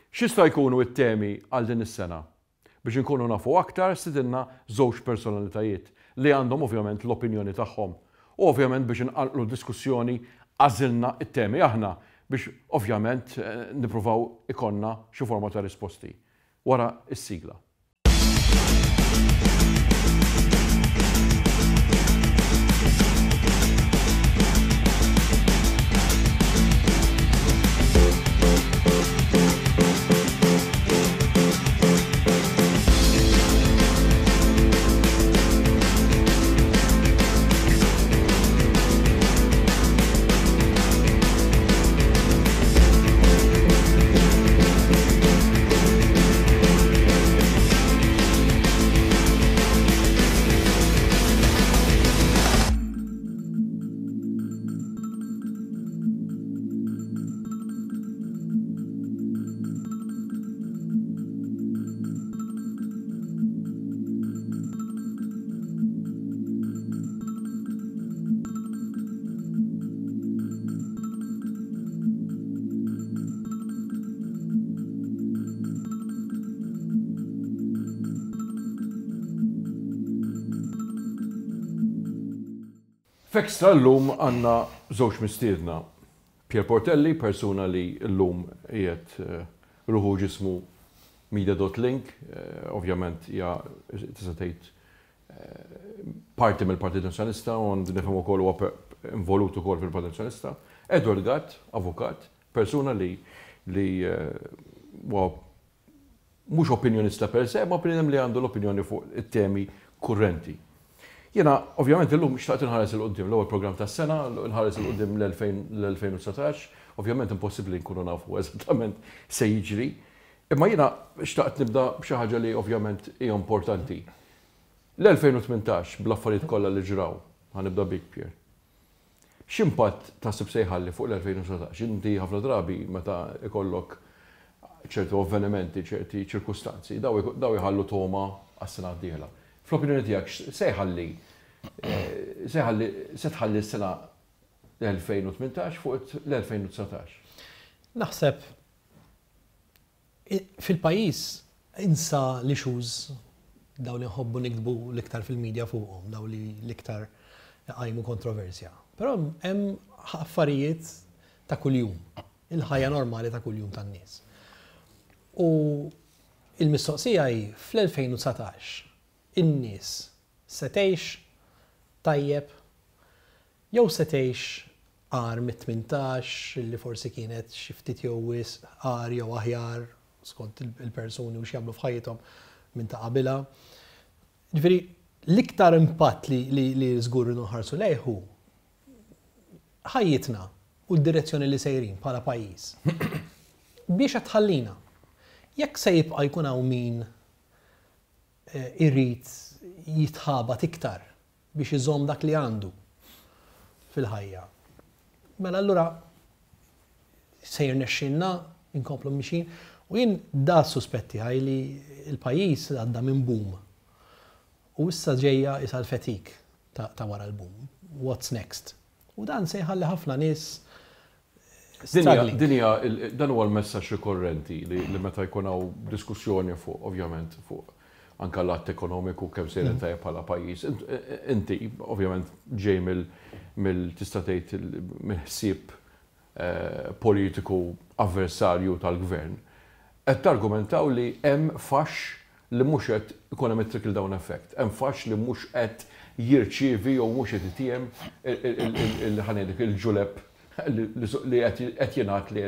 X'jista' jkunu t-temi għal din is-sena? Biex inkunu nafu aktar stidinna żewġ personalitajiet li għandhom ovvjament l-opinjoni tagħhom. U ovvjament biex inqanqlu d-diskussjoni għażilna t-temi aħna biex ovvjament nippruvaw ikollna xi forma ta' risposti. Wara s-sigla. F'Extra llum għandna żewġ mistiedna. Pierre Portelli, persuna li llum qiegħed ruħu u ġismu media.link, ovvjament hija tista' tgħid parti mill-Partit Nazzjonalista u nifhem ukoll huwa involut ukoll fil-Partit Nazzjonalista. Edward Gatt, avukat, persuna li li huwa mhux opinjonista per se, ma bniedem li għandu l-opinjoni fuq it-temi kurrenti. Jiena, ovvjament, illum xtaqt inħares 'il quddiem, l-ewwel programm tas-sena, nħares 'il quddiem l-2019, ovvjament impossibbli nkunu nafu eżattament se jiġri, imma jiena xtaqt nibda b'xi ħaġa li ovvjament hija importanti. L-2018 bl-affarijiet kollha li ġraw, ħa nibda bik Pierre, X'impatt taħseb se jħalli fuq l-2019? Inti ħafna drabi meta jkollok ċertu avvenimenti, ċerti ċirkustanzi, daw jħallu togħma għas-sena d-dieħla. Fl-opinjoni tiegħek se jħalli se jħalli se tħalli s-sena 2018 fuq l-2019? Naħseb Fil-pajjiż insa l-issues dawn li nħobbu niktbu l-iktar fil-media fuqhom, dawn li l-iktar iqajmu kontroversja. Però hemm affarijiet ta' kuljum, il-ħajja normali ta' kuljum tan-nies. U il-mistoqsija hi fl-2019 in-nies se tgħix tajjeb Jew se tgħix agħar mit-18 li forsi kienet xi ftit jew wisq agħar jew aħjar skont il-persuni u x'jagħmlu f'ħajjithom minn ta' qabilha. Ġifieri l-iktar impatt li li żgur rridu nħarsu lejh hu ħajjitna u d-direzzjoni li sejrin bħala pajjiż. Biex qed tħallina. Jekk se jibqa' jkun hawn min irid jitħabat iktar biex iżomm dak li għandu fil-ħajja. Mela allura se jirnexxilna nkomplu mixin u jien da s-suspett tiegħi li l-pajjiż għadda minn boom u issa ġejja isa l-fatigue ta' wara l-boom. What's next? U dan se jħalli ħafna nies struggling. Din hija, dan huwa l-messaġġ rikorrenti li meta jkun hawn diskussjoni fuq, ovvjament, fuq anke l-att ekonomiku kemm sejrin tajjeb bħala pajjiż. Inti, ovvjament, ġej mill tista' tgħid mill-ħsieb politiku avversarju tal-gvern. Qed targumentaw li hemm faxx li mhux qed ikun hemm it-trickle down effect. Hemm faxx li mhux qed jirċievi jew mhux qed itiegħem ħa ngħidlek il-ġuleb li qed jingħad li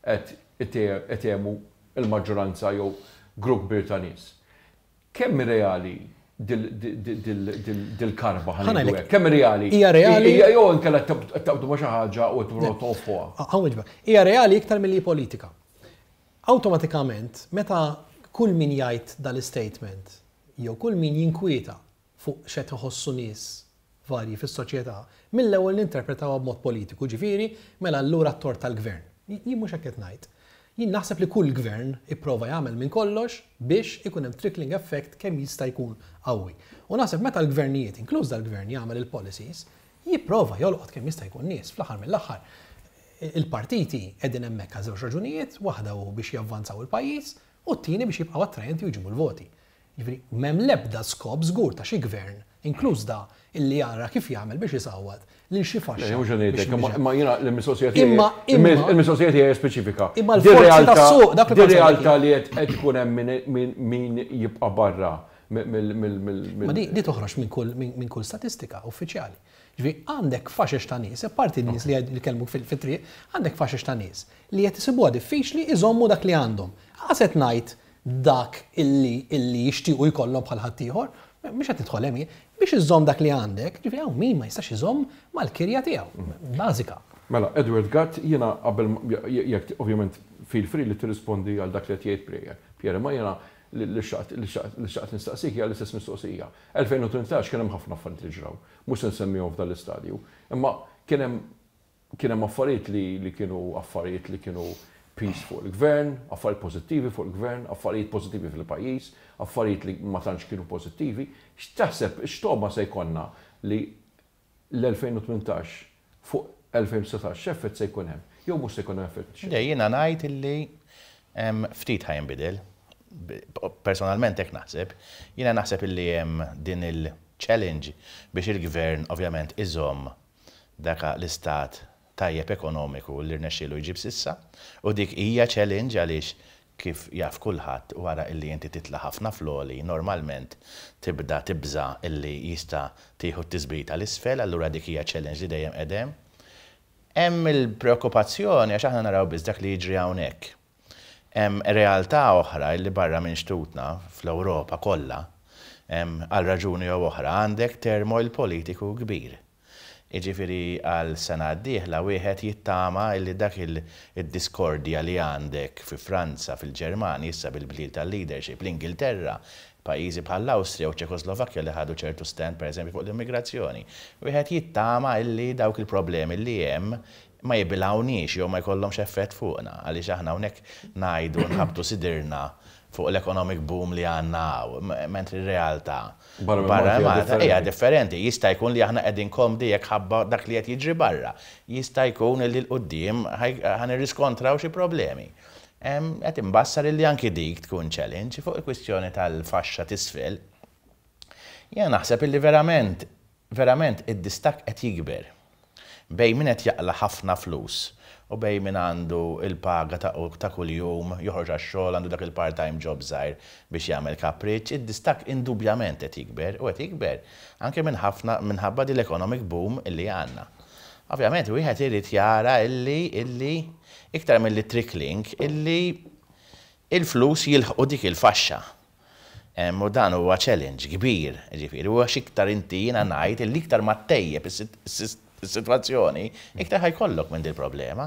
qed itiegħmu l-maġġoranza jew grupp kbir ta' nies. Kemm hi reali dil-karba ħa ngħidu hekk? Kemm hi reali? Hija reali. Jew inkella qed taqbdu ma' xi ħaġa u qed tippruvaw tonfħuha? Ħa nwieġbek. Hija reali iktar milli hi politika. Awtomatikament, meta kull min jgħid dal-istatement jew kull min jinkwieta fuq x'qed iħossu nies varji fis-soċjetà, mill-ewwel ninterpretawha b'mod politiku, ġifieri, mela allura t-tort tal-gvern. Jien mhux hekk qed ngħid. Jien naħseb li kull gvern ipprova jagħmel minn kollox biex ikun hemm trickling effect kemm jista' jkun qawwi. U naħseb meta l-gvernijiet, inkluż dal-gvern, jagħmel il-policies, jipprova jolqot kemm jista' jkun nies. Fl-aħħar mill-aħħar, Il-partiti qegħdin hemmhekk għal żewġ raġunijiet, waħda hu biex javvanzaw il-pajjiż u t-tieni biex jibqgħu attrajenti u jġibu l-voti. Jiġifieri m'hemm l-ebda skop żgur ta' xi gvern, inkluż da, illi jara kif jagħmel biex isawwat lil xi faxxa. Le, mhux qed ngħidlek, imma jiena l-mistoqsija tiegħi. Imma il-mistoqsija tiegħi hija speċifika. Imma l-forzi tas-suq dak li realtà li qed ikun hemm min jibqa' barra mill. Ma di toħroġ minn kull statistika uffiċjali. Ġifieri għandek faxex ta' nies, apparti n-nies li kellmuk fit-triq, għandek faxex ta' nies li qed isibuha diffiċli jżommu dak li għandhom. Qas qed ngħid dak illi illi jixtiequ jkollhom bħal ħaddieħor, mhux qed nidħol hemm jien, biex iżżomm dak li għandek, ġifieri hawn min ma jistax iżomm mal-kirja tiegħu, bażika. Mela, Edward Gatt, jiena qabel jekk ovvjament feel free li tirrispondi għal dak li qed jgħid Pierre, Pierre, imma jiena li xtaqt li xtaqt nistaqsik hija l-istess mistoqsija. 2018 kien hemm ħafna affarijiet li ġraw, mhux se nsemmihom f'dan l-istadju, imma kien hemm Kien hemm affarijiet li li kienu affarijiet li kienu piż fuq il-gvern, affarijiet pożittivi fuq il-gvern, affarijiet pożittivi fil-pajjiż, affarijiet li ma tantx kienu pożittivi. X'taħseb, x'togħma se jkollna li l-2018 fuq 2019 x'effett se jkun hemm? Jew mhux se jkun hemm effett xejn? Le, jiena ngħid illi ftit ħa jinbidel. Personalment hekk naħseb. Jiena naħseb illi hemm din il-challenge biex il-gvern ovvjament iżomm dak l-istat tajjeb ekonomiku li rnexxielu jġib s'issa u dik hija challenge għaliex kif jaf kulħadd wara illi inti titla' ħafna fl-għoli normalment tibda tibża' illi jista' tieħu t-tisbita 'l isfel allura dik hija challenge li dejjem qed hemm. Hemm il-preokkupazzjoni għax aħna naraw biss dak li jiġri hawnhekk. Hemm realtà oħra illi barra minn xtutna, fl-Ewropa kollha, għal raġuni jew oħra għandek turmoil politiku kbir. Jiġifieri għal sena d-dieħla wieħed jittama illi dak id-diskordja li għandek fi Franza, fil-Ġermanja, issa bil-bdil tal-leadership, l-Ingilterra, pajjiżi bħall-Awstrija u ċ-Ċekoslovakkja li ħadu ċertu stand pereżempju fuq l-immigrazzjoni. Wieħed jittama illi dawk il-problemi li hemm ma jibilgħuniex jew ma jkollhomx effett fuqna, għaliex aħna hawnhekk ngħidu nħabbtu sidirna fuq l-economic boom li għandna hawn, mentri r-realtà barra minn Malta hija differenti. Jista' jkun li aħna qegħdin komdi jekk ħabba dak li qed jiġri barra. Jista' jkun li 'l quddiem ħa nirriskontraw xi problemi. Qed imbassar illi anki dik tkun challenge. Fuq il-kwistjoni tal-faxxa t'isfel, jiena naħseb illi verament Verament id-distakk qed jikber bejn min qed jaqla' ħafna flus u bejn min għandu l-paga ta' ta' kuljum, joħroġ għax-xogħol, għandu dak il-part-time job żgħir biex jagħmel kapriċċ, id-distakk indubjament qed jikber u qed jikber anke minn ħafna minħabba din l-economic boom illi għandna. Ovvjament wieħed irid jara illi illi iktar milli trickling illi il-flus jilħqu dik il-faxxa. U dan huwa challenge kbir, jiġifieri, u għax iktar inti jiena ngħid illi iktar ma ttejjeb is-sitwazzjoni, iktar ħa jkollok minn dil-problema.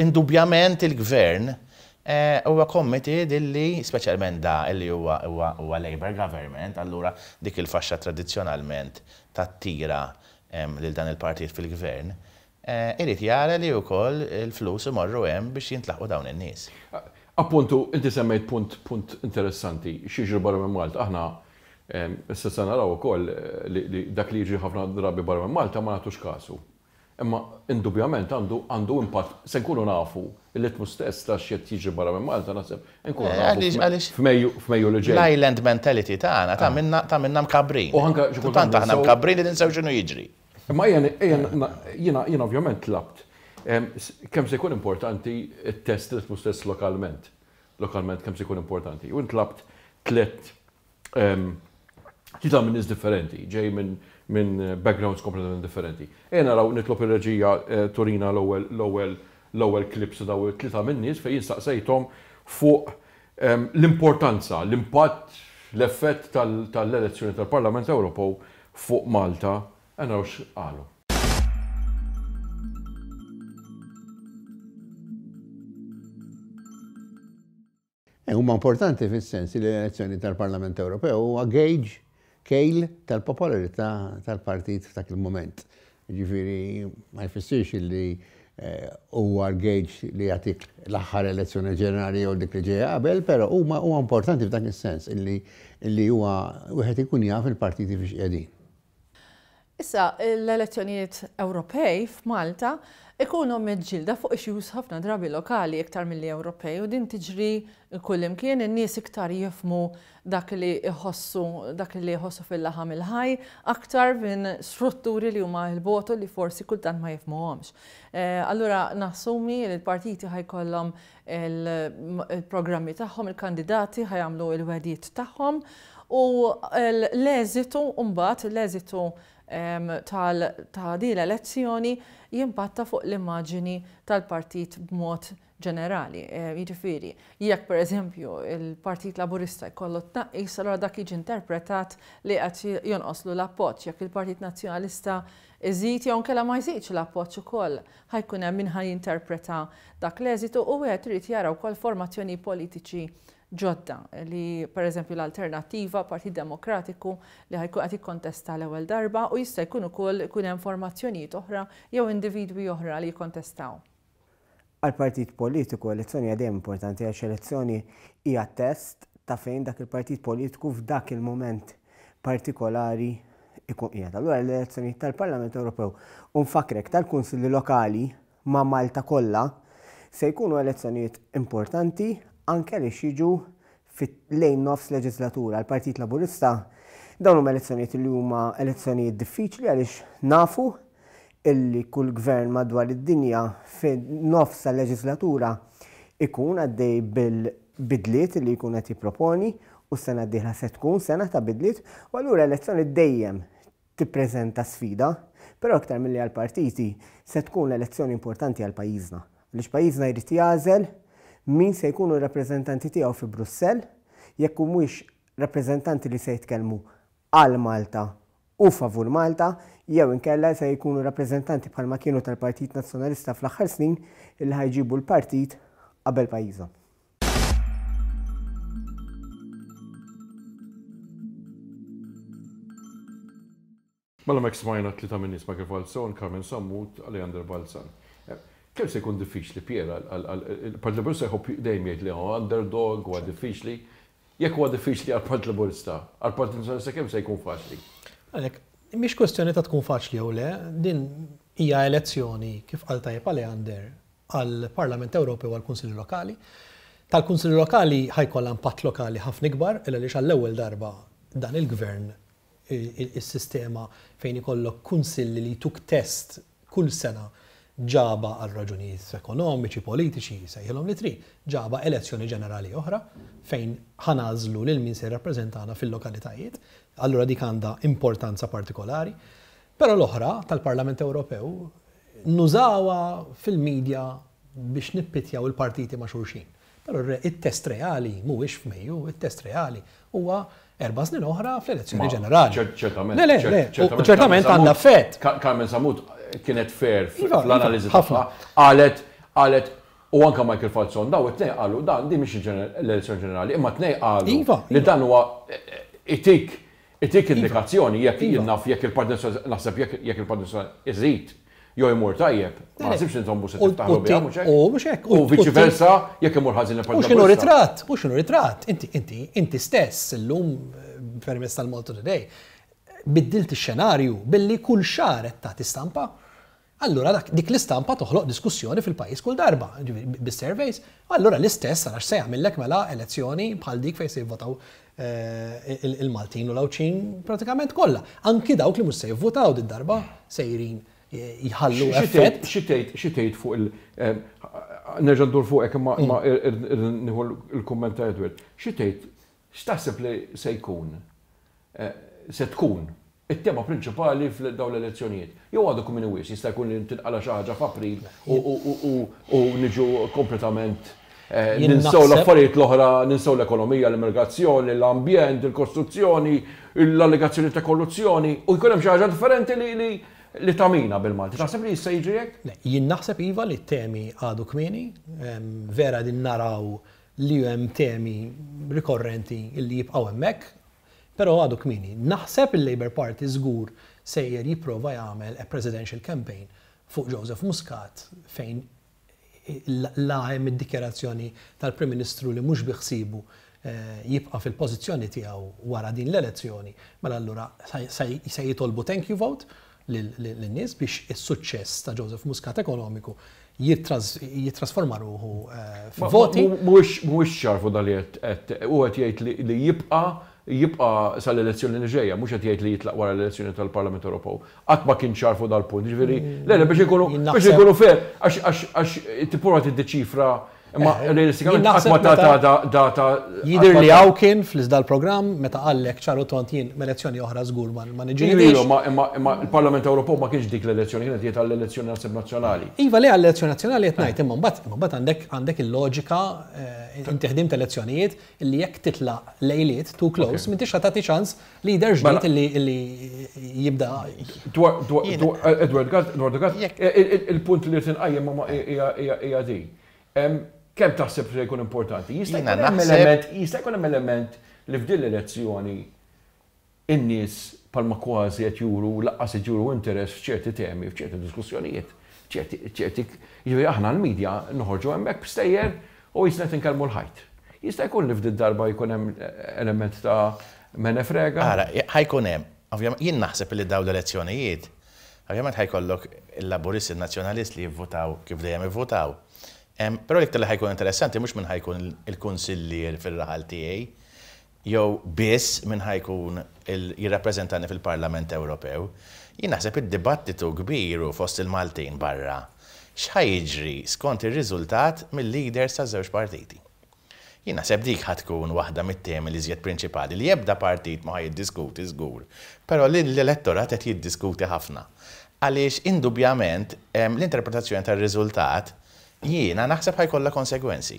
Indubjament il-Gvern huwa committed illi, speċjalment da illi huwa huwa Labour government, allura dik il-faxxa tradizzjonalment tattira lil dan il-partit fil-Gvern, Irid jara li wkoll il-flus imorru hemm biex jintlaħqu dawn in-nies. Appuntu, inti semmejt punt punt interessanti, x'jiġri barra minn Malta. Aħna issa se naraw ukoll li dak li jiġri ħafna drabi barra minn Malta ma nagħtux kasu. Imma indubjament għandu għandu impatt, se nkunu nafu l-ritmu stess ta' x'qed jiġri barra minn Malta naħseb inkunu nafu f'Mejju f'Mejju li ġej. L-island mentality tagħna tagħmilna tagħmilna mkabbrin. U anke xi kultant Tant aħna mkabbrin li ninsew x'inhu jiġri. Imma ejja jiena jiena ovvjament tlabt kemm se jkun importanti t-test ritmu stess lokalment. Lokalment kemm se jkun importanti. U ntlabt tlett tlieta minn nies differenti, ġej minn minn backgrounds kompletament differenti. Ejja naraw nitlob ir-reġija turina l-ewwel l-ewwel l-ewwel clips ta' dawn it-tlieta min-nies fejn jien staqsejthom fuq l-importanza, l-impatt, l-effett tal-elezzjoni tal-Parlament Ewropew fuq Malta, ejja naraw x'qalu. Huma importanti fis-sens li l-elezzjoni tal-Parlament Ewropew huwa gauge, kejl tal-popolarità tal-partit f'dak il-mument. Jiġifieri ma jfissirx li huwa l-gauge li jagħtik l-aħħar elezzjoni ġenerali jew dik li ġejja qabel, però huma huwa importanti f'dak is-sens illi illi huwa wieħed ikun jaf il-partiti fiex qiegħdin. Issa, l-elezzjonijiet Ewropej f'Malta Ikunu miġġielda fuq issues ħafna drabi lokali iktar milli Ewropej u din tiġri kullimkien, in-nies iktar jifhmu dak li jħossu, dak li jħossu fil-laħam il-ħaj aktar minn strutturi li huma 'l bogħod u li forsi kultant ma jifhmuhomx. Allura nassumi li l-partiti ħa jkollhom il-programmi tagħhom, il-kandidati ħa jagħmlu l-wegħdiet tagħhom u l-eżitu mbagħad, l-eżitu ta' din l-elezzjoni jimpatta fuq l-immaġini tal-partit b'mod ġenerali. Jiġifieri, jekk pereżempju il-Partit Laburista jkollu tnaqqis, allura dak jiġi interpretat li qed jonqoslu l-appoġġ. Jekk il-Partit Nazzjonalista jżid jew inkella ma jżidx l-appoġġ ukoll, ħa jkun hemm min ħa jinterpreta dak l-eżitu u wieħed irid jara wkoll formazzjoni politiċi ġodda li pereżempju l-Alternattiva, Partit Demokratiku li ħa jkun qed jikkontesta l-ewwel darba u jista' jkun ukoll ikun hemm formazzjonijiet oħra jew individwi oħra li jikkontestaw. Għal partit politiku elezzjoni hija dejjem importanti għax elezzjoni hija test ta' fejn dak il-partit politiku f'dak il-mument partikolari ikun qiegħed. Allura l-elezzjonijiet tal-Parlament Ewropew u nfakkrek tal-Kunsilli Lokali ma' Malta kollha, se jkunu elezzjonijiet importanti anke għaliex jiġu lejn nofs leġislatura. Għall-Partit Laburista dawn huma elezzjonijiet li huma elezzjonijiet diffiċli għaliex nafu illi kull gvern madwar id-dinja fin-nofs tal-leġislatura ikun għaddej bil-bidliet li jkun qed jipproponi u s-sena d-dieħla se tkun sena ta' bidliet u allura elezzjoni dejjem tippreżenta sfida, però iktar milli għall-partiti, se tkun elezzjoni importanti għal pajjiżna. Għaliex pajjiżna jrid jagħżel min se jkunu r-rappreżentanti tiegħu fi Brussell, jekk humiex rappreżentanti li se jitkellmu għal Malta u favur Malta, jew inkella se jkunu rappreżentanti bħalma kienu tal-Partit Nazzjonalista fl-aħħar snin illi ħa jġibu l-partit qabel pajjiżhom. Mela mek smajna tlieta minn nies Michael Falzon, Carmen Sammut, Aleander Balzan. Eh, kemm se jkun diffiċli Pier il-Partit Laburista jħobb dejjem jgħid li huwa underdog huwa diffiċli. Jekk huwa diffiċli għall-Partit Laburista, għall-Partit Nazzjonalista kemm se jkun faċli? Għalhekk, mhix kwestjoni ta' tkun faċli jew le, din hija elezzjoni kif qal tajjeb Aleander għall-Parlament Ewropew u għall-Kunsilli Lokali. Tal-Kunsilli Lokali ħa jkollha impatt lokali ħafna ikbar il għaliex għall-ewwel darba dan il-Gvern is-sistema fejn ikollok kunsilli li jtuk test kull sena ġabha għal raġunijiet ekonomiċi, politiċi, sejħilhom li trid, ġabha elezzjoni ġenerali oħra fejn ħa nagħżlu lil min se jirrappreżentana fil-lokalitajiet. Allura dik għandha importanza partikolari. Però l-oħra tal-Parlament Ewropew nużawha fil-media biex nippitjaw il-partiti ma' xulxin. Però it-test reali mhuwiex f'Mejju, it-test reali huwa erba' snin oħra fl-elezzjoni ġenerali. Ċertament. Le, le, le, ċertament għandha effett. Carmen Sammut kienet fair iva, fl-analiżi iva, tagħha. Qalet, qalet, u anke Michael Falzon, daw it-tnejn qalu dan din mhix l-elezzjoni ġenerali, imma tnejn qalu iva, li dan huwa itik Itik indikazzjoni jekk jien naf jekk il-Partit Nazzjonalista naħseb jekk jekk il-Partit Nazzjonalista iżid jew imur tajjeb, ma naħsibx li intom mhux se tiftaħru biha mhux hekk. U mhux hekk. U viċi versa jekk imur ħażin il-Partit Laburista. U x'inhu ritratt, u x'inhu ritratt, inti inti inti stess illum permezz tal-Malta Today biddilt ix-xenarju billi kull xahar qed tagħti stampa. Allura dak, dik l-istampa toħloq diskussjoni fil-pajjiż kull darba, jiġifieri bis-surveys. Allura l-istess ara x'se jagħmillek mela elezzjoni bħal dik fejn se jivvotaw il-Maltin u l-Għawdxin pratikament kollha. Anki dawk li mhux se jivvotaw did-darba sejrin jħallu effett. Xi tgħid, xi tgħid fuq il-, nerġa' ndur fuqek imma nieħu l-kumment ta' Edward. Xi tgħid, x'taħseb li se jkun, se tkun it-tema prinċipali f'dawn l-elezzjonijiet. Jew għadu kmieni wisq, jista' jkun li tinqala' xi ħaġa f'April u niġu kompletament ninsew l-affarijiet l-oħra, ninsew l-ekonomija, l-immigrazzjoni, l-ambjent, il-kostruzzjoni, l-allegazzjoni ta' korruzzjoni u jkun hemm xi ħaġa differenti li tagħmina bil-Malti. Taħseb li jista' jiġri hekk? Le, jien naħseb iva li t-temi għadu kmieni, vera qegħdin naraw li hemm temi rikorrenti li jibqgħu hemmhekk, Però għadu kmieni. Naħseb il-Labour Party żgur sejjer jipprova jagħmel a presidential campaign fuq Joseph Muscat fejn la hemm id-dikjarazzjoni tal-Prim Ministru li mhux bi ħsiebu jibqa' fil-pożizzjoni tiegħu wara din l-elezzjoni, mela allura se jitolbu thank you vote. lin-nies biex is-suċċess ta' Joseph Muscat ekonomiku jittrasforma ruħu f'voti. Mhuwiex ċar fuq dan li qed hu qed jgħid li jibqa' jibqa' sal-elezzjoni li ġejja, mhux qed jgħid li jitlaq wara l-elezzjoni tal-Parlament Ewropew. Qatt ma kien ċar fuq dal-punt, jiġifieri le le biex inkunu biex inkunu fair għax għax tipprova tiddeċifra imma realistikament qatt ma ta data. Jidher li hawn kien fl-iżda l-programm meta qallek ċar u tond jien m'elezzjoni oħra żgur ma niġġilidix. Imma imma l-Parlament Ewropew ma kienx dik l-elezzjoni, kien qed jgħid għall-elezzjoni naħseb nazzjonali. Iva le għall-elezzjoni nazzjonali qed ngħid imma mbagħad imma mbagħad għandek għandek il-loġika inti ħdimt elezzjonijiet illi jekk titlaq lejliet too close m'intix ħa tagħti ċans leader ġdid illi jibda. Dwar Edward Gatt, Edward Gatt, il-punt li rrid inqajjem hija din. Kemm taħseb li se jkun importanti? Jista' jkun hemm element, jista' jkun hemm element li f'din l-elezzjoni in-nies bħalma kważi qed juru lanqas qed juru interess f'ċerti temi, f'ċerti diskussjonijiet, ċerti, ċerti, jiġifieri aħna l-media noħorġu hemmhekk b'stejjer u qisna qed inkellmu l-ħajt. Jista' jkun li f'did darba jkun hemm element ta' mene frega? Ara, ħa jkun hemm. Ovvjament, jien naħseb li dawn l-elezzjonijiet, ovvjament ħa jkollok il-Laburisti, in-Nazzjonalisti li jivvutaw kif dejjem ivvutaw. Però l-iktar li ħa jkun interessanti mhux min ħa jkun il-kunsillier fir-raħal tiegħi, jew biss min ħa jkun jirrappreżentani fil-Parlament Ewropew. Jien naħseb id-dibattitu kbir hu fost il-Maltin barra x'ħa jiġri skont ir-riżultat mil-leaders taż-żewġ partiti. Jien naħseb dik ħa tkun waħda mit-temi l-iżjed prinċipali li ebda partit ma ħa jiddiskuti żgur, però li l-elettorat qed jiddiskuti ħafna. Għaliex indubbjament l-interpretazzjoni tar-riżultat jiena naħseb ħa jkollha konsegwenzi.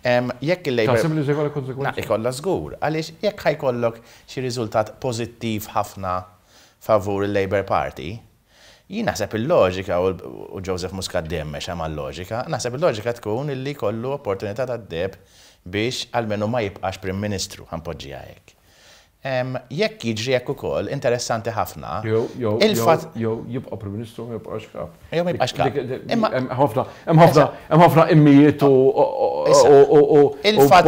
Jekk il-Labour. Taħseb li se jkollha konsegwenzi? Ikollha żgur, għaliex jekk ħa jkollok xi riżultat pożittiv ħafna favur il-Labour Party, jien naħseb il-loġika, u Joseph Muscat dejjem mexa mal-loġika, naħseb il-loġika tkun illi jkollu opportunità tad-deheb biex almenu ma jibqax Prim Ministru, ħa npoġġiha hekk. Jekk jiġri hekk ukoll, interessanti ħafna, il-fatt. Jew jibqa' Prim Ministru ma jibqax kap. Jew ma jibqax kap. Hemm ħafna, hemm ħafna, hemm ħafna immijiet u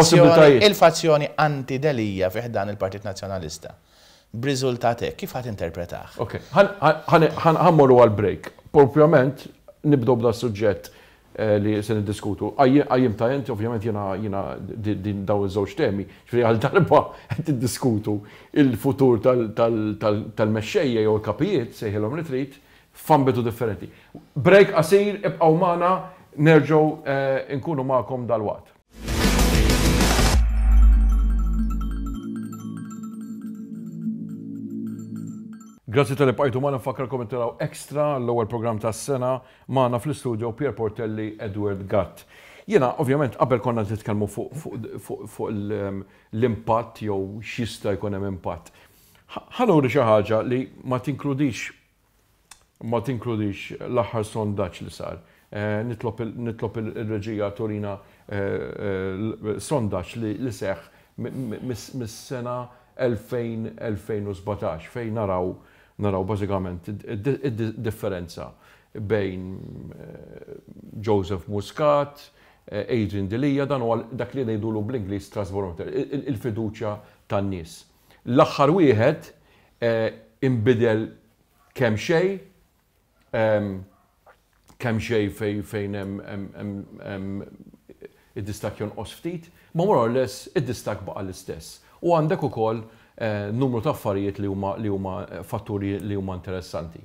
possibilitajiet. Il-fazzjoni anti-Delia fi ħdan il-Partit Nazzjonalista, b'riżultat hekk, kif ħa tinterpretah? Ok, ħa mmorru għall-break. Propjament nibdew b'das-suġġett li se niddiskutu. Qajjimtha int, ovvjament jiena jiena din dawn iż-żewġ temi, ġifieri għal darba qed tiddiskutu il-futur tal-mexxejja jew il-kapijiet, sejħilhom li trid, f'ambitu differenti. Break qasir, ibqgħu magħna, nerġgħu nkunu magħkom dalwaqt. Grazzi talli bqajtu magħna, nfakkarkom li taraw Extra, l-ewwel programm tas-sena, magħna fl-istudio Pierre Portelli, Edward Gatt. Jiena ovvjament qabel konna qed nitkellmu fuq l-impatt jew x'jista' jkun hemm impatt. Ħa nuri xi ħaġa li ma tinkludix ma tinkludix l-aħħar sondaġġ li sar. Nitlob nitlob ir-reġija turina sondaġġ li seħħ mis-sena 2000 2017 fejn naraw naraw bażikament id-differenza bejn Joseph Muscat, Adrian Delia, dan huwa dak li ngħidulu bl-Ingliż trust barometer, il-fiduċja tan-nies. L-aħħar wieħed inbidel kemxejn, kemxejn fejn hemm id-distakk jonqos ftit, ma more or less id-distakk baqa' l-istess. U għandek ukoll numru ta' affarijiet li huma li huma fatturi li huma interessanti.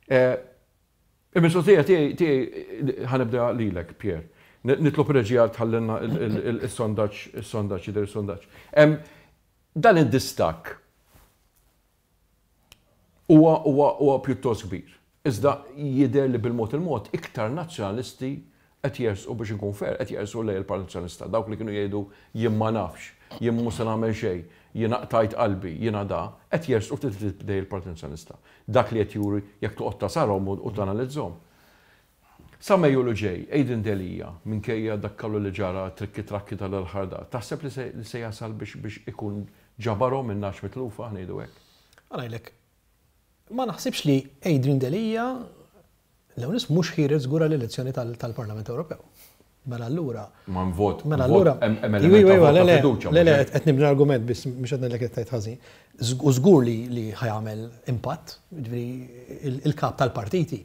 Il-mistoqsija tiegħi tiegħi ħa nibda lilek, Pierre. Nitlob ir-reġija tħallilna is-sondaġġ, is-sondaġġ jidher is-sondaġġ. Dan id-distakk huwa huwa huwa pjuttost kbir. Iżda jidher li bil-mod il-mod iktar Nazzjonalisti qed jersqu biex inkun fair, qed jersqu lejn il-Partit Nazzjonalista. Dawk li kienu jgħidu jien ma nafx, jien mhu se nagħmel xejn, jiena qtajt qalbi, jiena da, qed jersqu ftit ftit lejn il-Partit Nazzjonalista. Dak li qed juri jekk toqgħod tasarhom u tanalizzhom. Sa Mejju li ġej, Adrian Delia, minkejja dak kollu li ġara, trikki trakki tal-aħħar da, taħseb li se li se jasal biex biex ikun ġabarhom in-nagħaġ mitlufa, ħa ngħidu hekk? Ħa ngħidlek, ma naħsibx li Adrian Delia l-ewwel nett mhux ħiereġ żgur għall-elezzjoni tal-Parlament Ewropew. Mela allura. Ma vot. Mela allura. Iva, le, le, le, le, qed nibni argument biss mhux qed ngħidlek qed tgħid ħażin. U żgur li li ħa jagħmel impatt, jiġifieri il-kap tal-partiti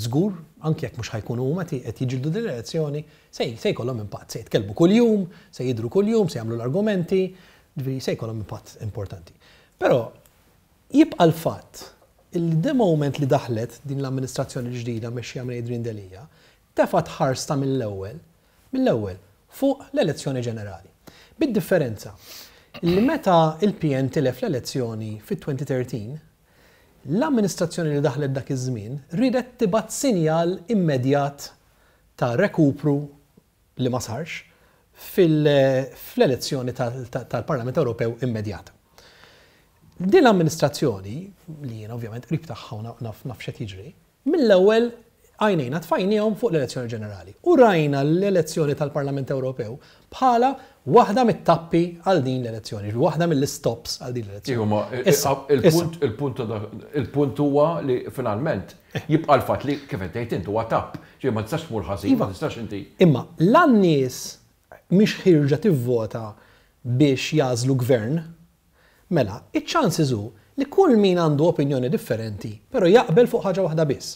żgur, anke jekk mhux ħa jkunu huma qed jiġġieldu din l-elezzjoni, se se jkollhom impatt, se jitkellmu kuljum, se jidhru kuljum, se jagħmlu l-argumenti, jiġifieri se jkollhom impatt importanti. Però jibqa' l-fatt li the moment li daħlet din l-amministrazzjoni l-ġdida mmexxija minn Adrian Delia, tefgħet ħarsta mill-ewwel, mill-ewwel, fuq l-elezzjoni ġenerali. Bid-differenza li meta l-PN tilef l-elezzjoni fit-2013, l-amministrazzjoni li daħlet dak iż-żmien riedet tibgħat sinjal immedjat ta' rekupru li ma sarx fl-elezzjoni tal-Parlament Ewropew immedjata. Din l-amministrazzjoni, li jiena ovvjament qrib tagħha u naf x'qed jiġri, Mill-ewwel għajnejna tfajniehom fuq l-elezzjoni ġenerali u rajna l-elezzjoni tal-Parlament Ewropew bħala waħda mit-tappi għal din l-elezzjoni, jiġifieri waħda mill-istops għal din l-elezzjoni. Iva, ma il-punt, il-punt ta' dak, il-punt huwa li finalment jibqa' l-fatt li kif qed tgħid int huwa tapp, ġifieri ma tistax tmur ħażin, ma tistax inti. Imma la n-nies mhix ħierġa tivvota biex jagħżlu gvern, Mela, iċ-chances hu li kull min għandu opinjoni differenti, però jaqbel fuq ħaġa waħda biss,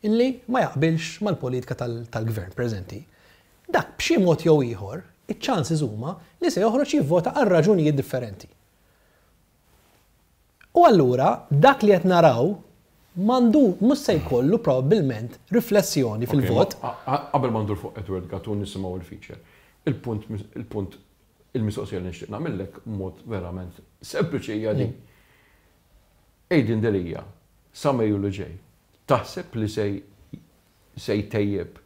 illi ma jaqbilx mal-politika tal-gvern preżenti, dak b'xi mod jew ieħor, iċ-chances huma li se joħroġ jivvota għal raġunijiet differenti. U allura dak li qed naraw m'għandu, mhux se jkollu probabbilment riflessjoni fil-vot. Qabel ma ndur fuq Edward Gatt u nisimgħu l-feature, il-punt, il-punt Il-mistoqsija li nixtieq nagħmillek b'mod verament sempliċi hija din. Adrian Delia, sa Mejju li ġej, taħseb li se se jtejjeb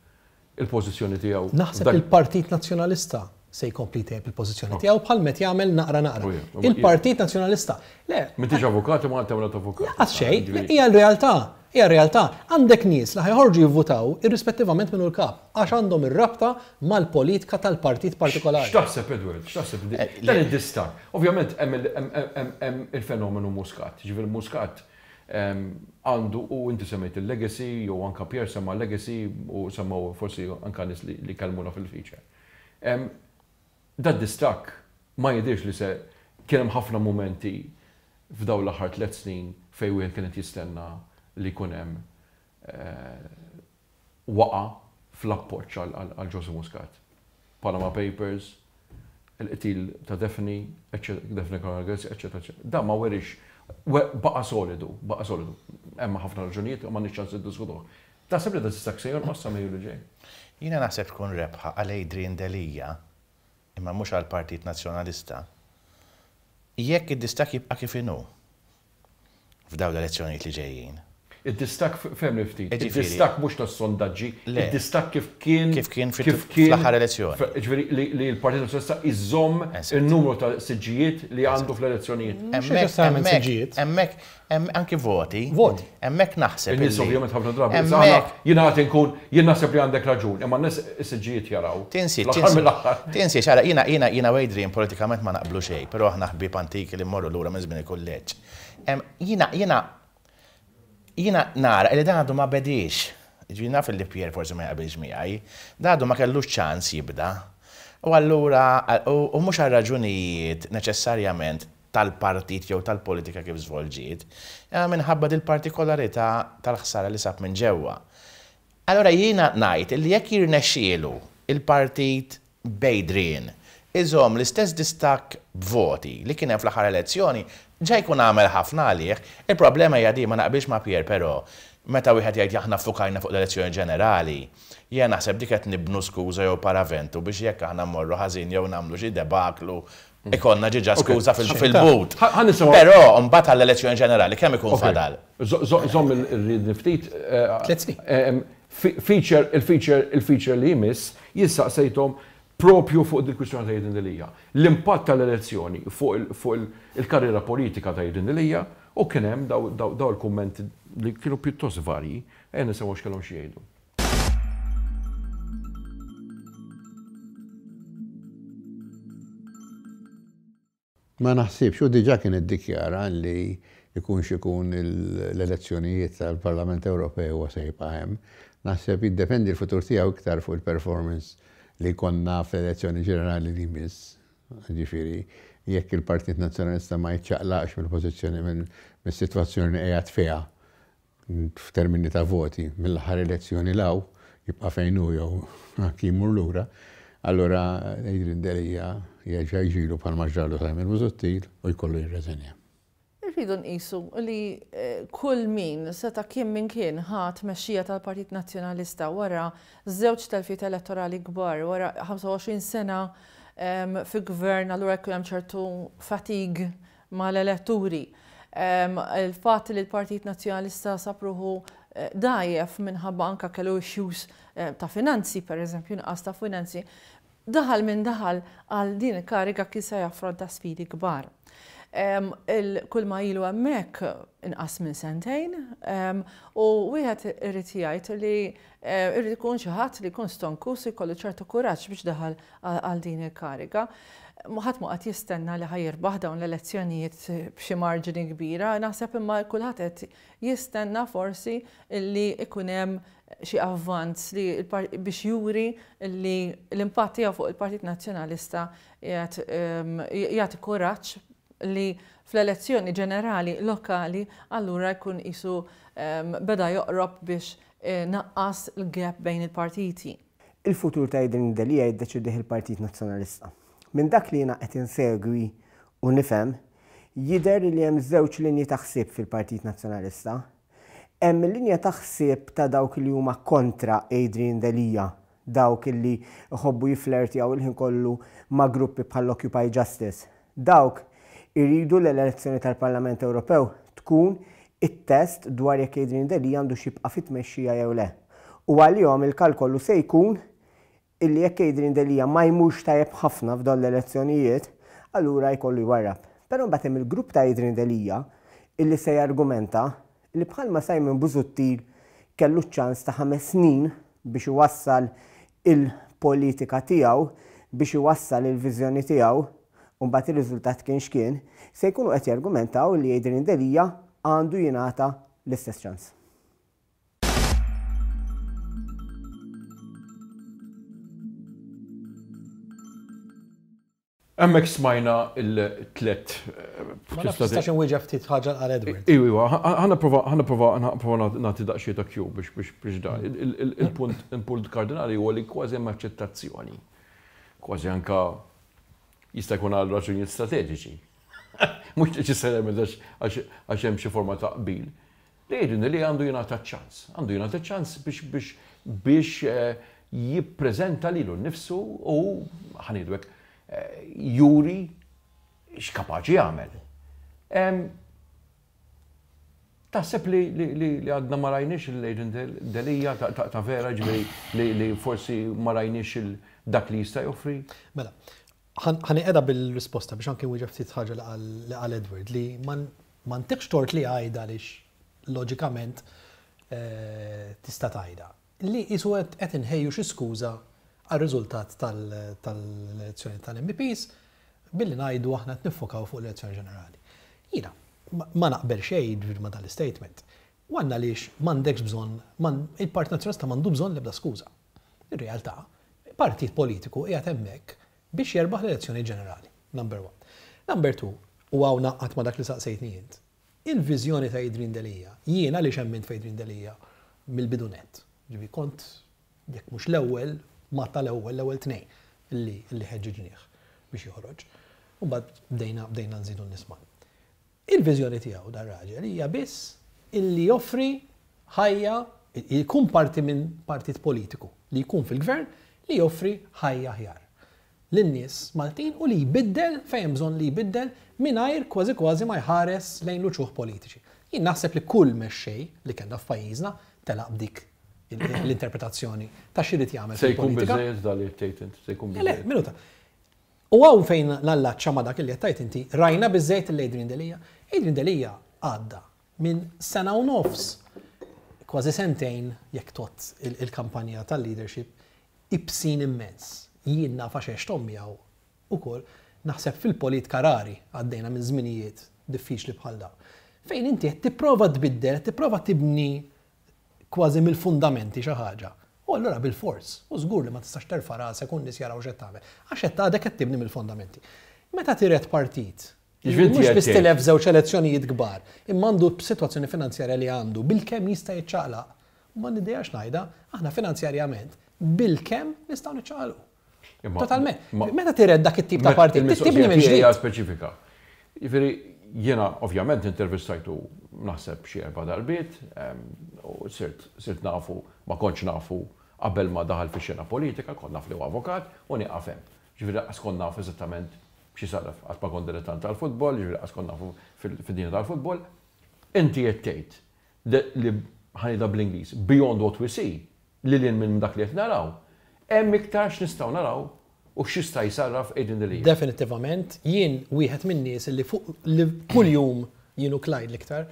il-pożizzjoni tiegħu? Naħseb li l-Partit Nazzjonalista se jkompli jtejjeb il-pożizzjoni tiegħu bħal m'qed jagħmel naqra naqra. Il-Partit Nazzjonalista. Le. M'intix avukat imma għad tagħmilha t'avukat. Lanqas xejn, hija l-realtà. Hija r-realtà. Għandek nies li ħa joħorġu jivvutaw irrispettivament min hu l-kap, għax għandhom ir-rabta mal-politika tal-partit partikolari. X'taħseb Edward? X'taħseb dan id-distakk? Ovvjament hemm il-fenomenu Muscat. Jiġifieri Muscat għandu u inti semmejt il-legacy jew anke Pierre semma l-legacy u semmew forsi anke nies li kellmuna fil-feature. Dad-distakk ma jidhirx li se kien hemm ħafna mumenti f'dawn l-aħħar tlett snin fejn wieħed kien qed jistenna li jkun hemm waqgħa fl-appoġġ għal Joseph Muscat. Panama Papers, il-qtil ta' Daphne, Daphne Caruana Galizia, eċċetera, eċċetera. Dan ma weriex, baqa' solidu, baqa' solidu. Hemm ħafna raġunijiet u m'għandniex ċans niddiskutuh. Taħseb li dad-distakk se jonqos sa Mejju li ġej? Jiena naħseb tkun rebħa għal Adrian Delia, imma mhux għall-Partit Nazzjonalista, jekk id-distakk jibqa' kif inhu f'dawn l-elezzjonijiet li ġejjin. Id-distakk, fehmni ftit, id-distakk mhux tas-sondaġġi, id-distakk kif kien Kif kien fl-aħħar elezzjoni. Jiġifieri li l-Partit Nazzjonalista jżomm in-numru ta' siġġijiet li għandu fl-elezzjonijiet. Mhux neċessarjament siġġijiet. Hemmhekk, Hemm anki voti. Voti. Hemmhekk naħseb. In-nies ovvjament ħafna drabi. Hemmhekk. Jiena qed inkun, jien naħseb li għandek raġun, imma n-nies is-siġġijiet jaraw. Tinsiex, tinsiex, ara, jiena, jiena, jiena u Adrian politikament ma naqblu xejn, però aħna ħbieb antiki li mmorru lura minn żmien il-kulleġġ. Jiena, jiena, jiena nara li dan għadu ma bediex. Jiġifieri naf li Pierre forsi ma jaqbilx miegħi. Dan għadu ma kellux ċans jibda. U allura, u mhux għal raġunijiet neċessarjament tal-partit jew tal-politika kif żvolġiet, imma minħabba dil-partikolarità tal-ħsara li sab minn ġewwa. Allura jiena ngħid illi jekk jirnexxielu l-partit b'Adrian iżomm l-istess distakk b'voti li kien hemm fl-aħħar elezzjoni, ġa jkun għamel ħafna għalih. Il-problema hija din, ma naqbilx ma' Pierre però, meta wieħed jgħid aħna ffukajna fuq l-elezzjoni ġenerali, jiena naħseb dik qed nibnu skuża jew paraventu biex jekk aħna mmorru ħażin jew nagħmlu xi debaklu Ikollna ġiġa skuża fil-but. Però mbagħad għall-elezzjoni ġenerali kemm ikun fadal? Żomm il-riedni ftit. Tliet snin. Feature, il-feature, il-feature li jmiss, jien saqsejthom propju fuq dil-kwistjoni ta' Adrian Delia. L-impatt tal-elezzjoni fuq il-karriera politika ta' Adrian Delia u kien hemm dawn il-kummenti li kienu pjuttost varji. Ejja nisimgħu x'kellhom xi jgħidu. Ma naħsibx, hu diġà kien iddikjara li jkun x'ikun l-elezzjonijiet tal-Parlament Ewropew huwa se jibqa' hemm. Naħseb jiddependi l-futur tiegħu iktar fuq il-performance. li jkollna fl-elezzjoni ġenerali li jmiss. Ġifieri, jekk il-Partit Nazzjonalista ma jiċċaqlaqx mill-pożizzjoni mis-sitwazzjoni li qiegħed fiha f'termini ta' voti mill-aħħar elezzjoni 'l hawn, jibqa' fejn hu jew anki jmur lura, allura Adrian Delia jerġa' jiġilu bħalma ġralu Simon Busuttil u jkollu jirreżenja. Irridu nqisu li kull min, seta' kien min kien, ħa t-tmexxija tal-Partit Nazzjonalista wara żewġ telfiet elettorali kbar, wara 25 sena fi gvern allura jkun hemm ċertu fatigue mal-eletturi. Il-fatt li l-Partit Nazzjonalista sab ruħu dgħajjef minħabba anke kellu issues ta' finanzi, pereżempju nuqqas ta' finanzi, Daħal min daħal għal din il-kariga kien se jaffronta sfidi kbar. Kull ma ilu hemmhekk inqas minn sentejn u wieħed irid jgħid li irid ikun xi ħadd li jkun stonkus u jkollu ċertu kuraġġ biex daħal għal din il-kariga. Ħadd mhu qed jistenna li ħa jirbaħ dawn l-elezzjonijiet b'xi marġini kbira, naħseb imma kulħadd qed jistenna forsi li jkun hemm xi avvanz li biex juri li l-impatt tiegħu fuq il-Partit Nazzjonalista qiegħed jagħti kuraġġ li fl-elezzjoni ġenerali lokali allura jkun qisu beda joqrob biex naqqas l-gap bejn il-partiti. Il-futur ta' Adrian Delia jiddeċidih il-Partit Nazzjonalista. Minn dak li jiena qed insegwi u nifhem, jidher li hemm żewġ linji ta' ħsieb fil-Partit Nazzjonalista. Hemm il-linja ta' ħsieb ta' dawk li huma kontra Adrian Delia, dawk li jħobbu jifflertjaw il-ħin kollu ma' gruppi bħall-Occupy Justice. Dawk iridu li l-elezzjoni tal-Parlament Ewropew tkun it-test dwar jekk Adrian Delia għandux jibqa' fit-tmexxija jew le. U għalihom il-kalkolu se jkun illi jekk Adrian Delia ma jmurx tajjeb ħafna f'dawn l-elezzjonijiet, allura jkollu jwarrab. Però mbagħad hemm il-grupp ta' Adrian Delia illi se jargumenta li bħalma Simon Busuttil kellu ċ-ċans ta' ħames snin biex iwassal il-politika tiegħu, biex iwassal il-viżjoni tiegħu, u mbagħad ir-riżultat kien x'kien, se jkunu qed jargumentaw li Adrian Delia għandu jingħata l-istess ċans. Hemmhekk smajna l-tlet. Ma nafx tistax inwieġeb ftit ħaġa għal Edward. Iwa, iwa, ħa nipprova ħa nipprova nipprova nagħti daqsxejn ta' cue biex biex biex da. Il-punt il-punt kardinali huwa li kważi hemm aċċettazzjoni. Kważi anka jista' jkun għal raġunijiet strateġiċi. Mhux neċessarjament għax għax hemm xi forma ta' qbil. Li jgħidilni li għandu jingħata ċ-ċans. Għandu jingħata ċ-ċans biex biex biex jippreżenta lilu nnifsu u, ħa ngħidu hekk, juri x'kapaċi jagħmel. Taħseb li li għadna ma rajniex lil Adrian Delia ta' vera, ġifieri li forsi ma rajniex dak li jista' joffri? Mela, Ħa nieqeda bil-risposta biex anki nwieġeb ftit ħaġa li qal Edward li ma ntikx tort li għidha għaliex loġikament tista' tgħidha. Li qisu qed inħejju xi skuża għar-riżultat tal-elezzjoni tal-MEPs billi ngħidu aħna qed niffokaw fuq l-elezzjoni ġenerali. Jiena ma naqbel xejn ġifieri ma' dan l-istatement. One għaliex m'għandekx bżonn, il-Partit Nazzjonalista m'għandu bżonn l-ebda skuża. Ir-realtà, partit politiku qiegħed hemmhekk biex jerbaħ l-elezzjoni ġenerali, number one. Number two, u hawn ngħaqqad ma' dak li saqsejtni int, il-viżjoni ta' Adrian Delia, jien għaliex emmint f'Adrian Delia mill-bidu nett, ġifieri kont jekk mhux l-ewwel, ma tal-ewwel, l-ewwel tnejn li li ħeġġiġnieh biex joħroġ. U mbagħad bdejna bdejna nżidu n-nies mal. Il-viżjoni tiegħu dar-raġel hija biss illi joffri ħajja, jkun parti minn partit politiku li jkun fil-gvern li joffri ħajja aħjar lin-nies Maltin u li jbiddel fejn hemm bżonn li jbiddel mingħajr kważi kważi ma jħares lejn l-uċuħ politiċi. Jien naħseb li kull mexxej li kellna f'pajjiżna telaq b'dik l-interpretazzjoni ta' x'irid jagħmel Se jkun fil-politika. biżżejjed dan li qed tgħid int, se jkun Le, le, biżżejjed. minuta. U hawn fejn nallaċċa ma' dak li qed tgħid inti, rajna biżżejjed lil Adrian Delia? Adrian Delia għadda minn sena u nofs, kważi sentejn jekk tgħodd il-kampanja tal-leadership, ibsin immens. Jien naf għax għexthom miegħu ukoll, naħseb fil-politka rari għaddejna minn żminijiet diffiċli bħal dawn. Fejn inti qed tipprova tbiddel, qed tipprova tibni kważi mill-fundamenti xi ħaġa. U allura bilfors, u żgur li ma tistax terfa' rasek u n-nies jaraw x'qed tagħmel. Għax qed għadek qed tibni mill-fondamenti. Meta tiret partit, li mhux biss tilef żewġ elezzjonijiet kbar, imma għandu b'sitwazzjoni finanzjarja li għandu, bilkemm jista' jiċċaqlaq, u m'għandi idea x'ngħidha, aħna finanzjarjament bilkemm nistgħu niċċaqalqu. Totalment. Meta tiret dak it-tip ta' partit, tibni minn ġdid. Speċifika. Jiġifieri jiena ovvjament intervistajtu naħseb xi erba' darbiet, u sirt nafu, ma kontx nafu qabel ma daħal fix-xena politika, kont naf li huwa avukat u nieqaf hemm. Ġifieri lanqas kont naf eżattament x'isarraf, qatt ma kont dilettant tal-futbol, ġifieri lanqas kont nafu fid-dinja tal-futbol. Inti qed tgħid li ħa ngħidha bl-Ingliż, beyond what we see, lil hinn minn dak li qed naraw, hemm iktar x'nistgħu naraw u x'jista' jsarraf Adrian Delia. Definittivament, jien wieħed min-nies li fuq li kuljum, jien u Clyde l-iktar,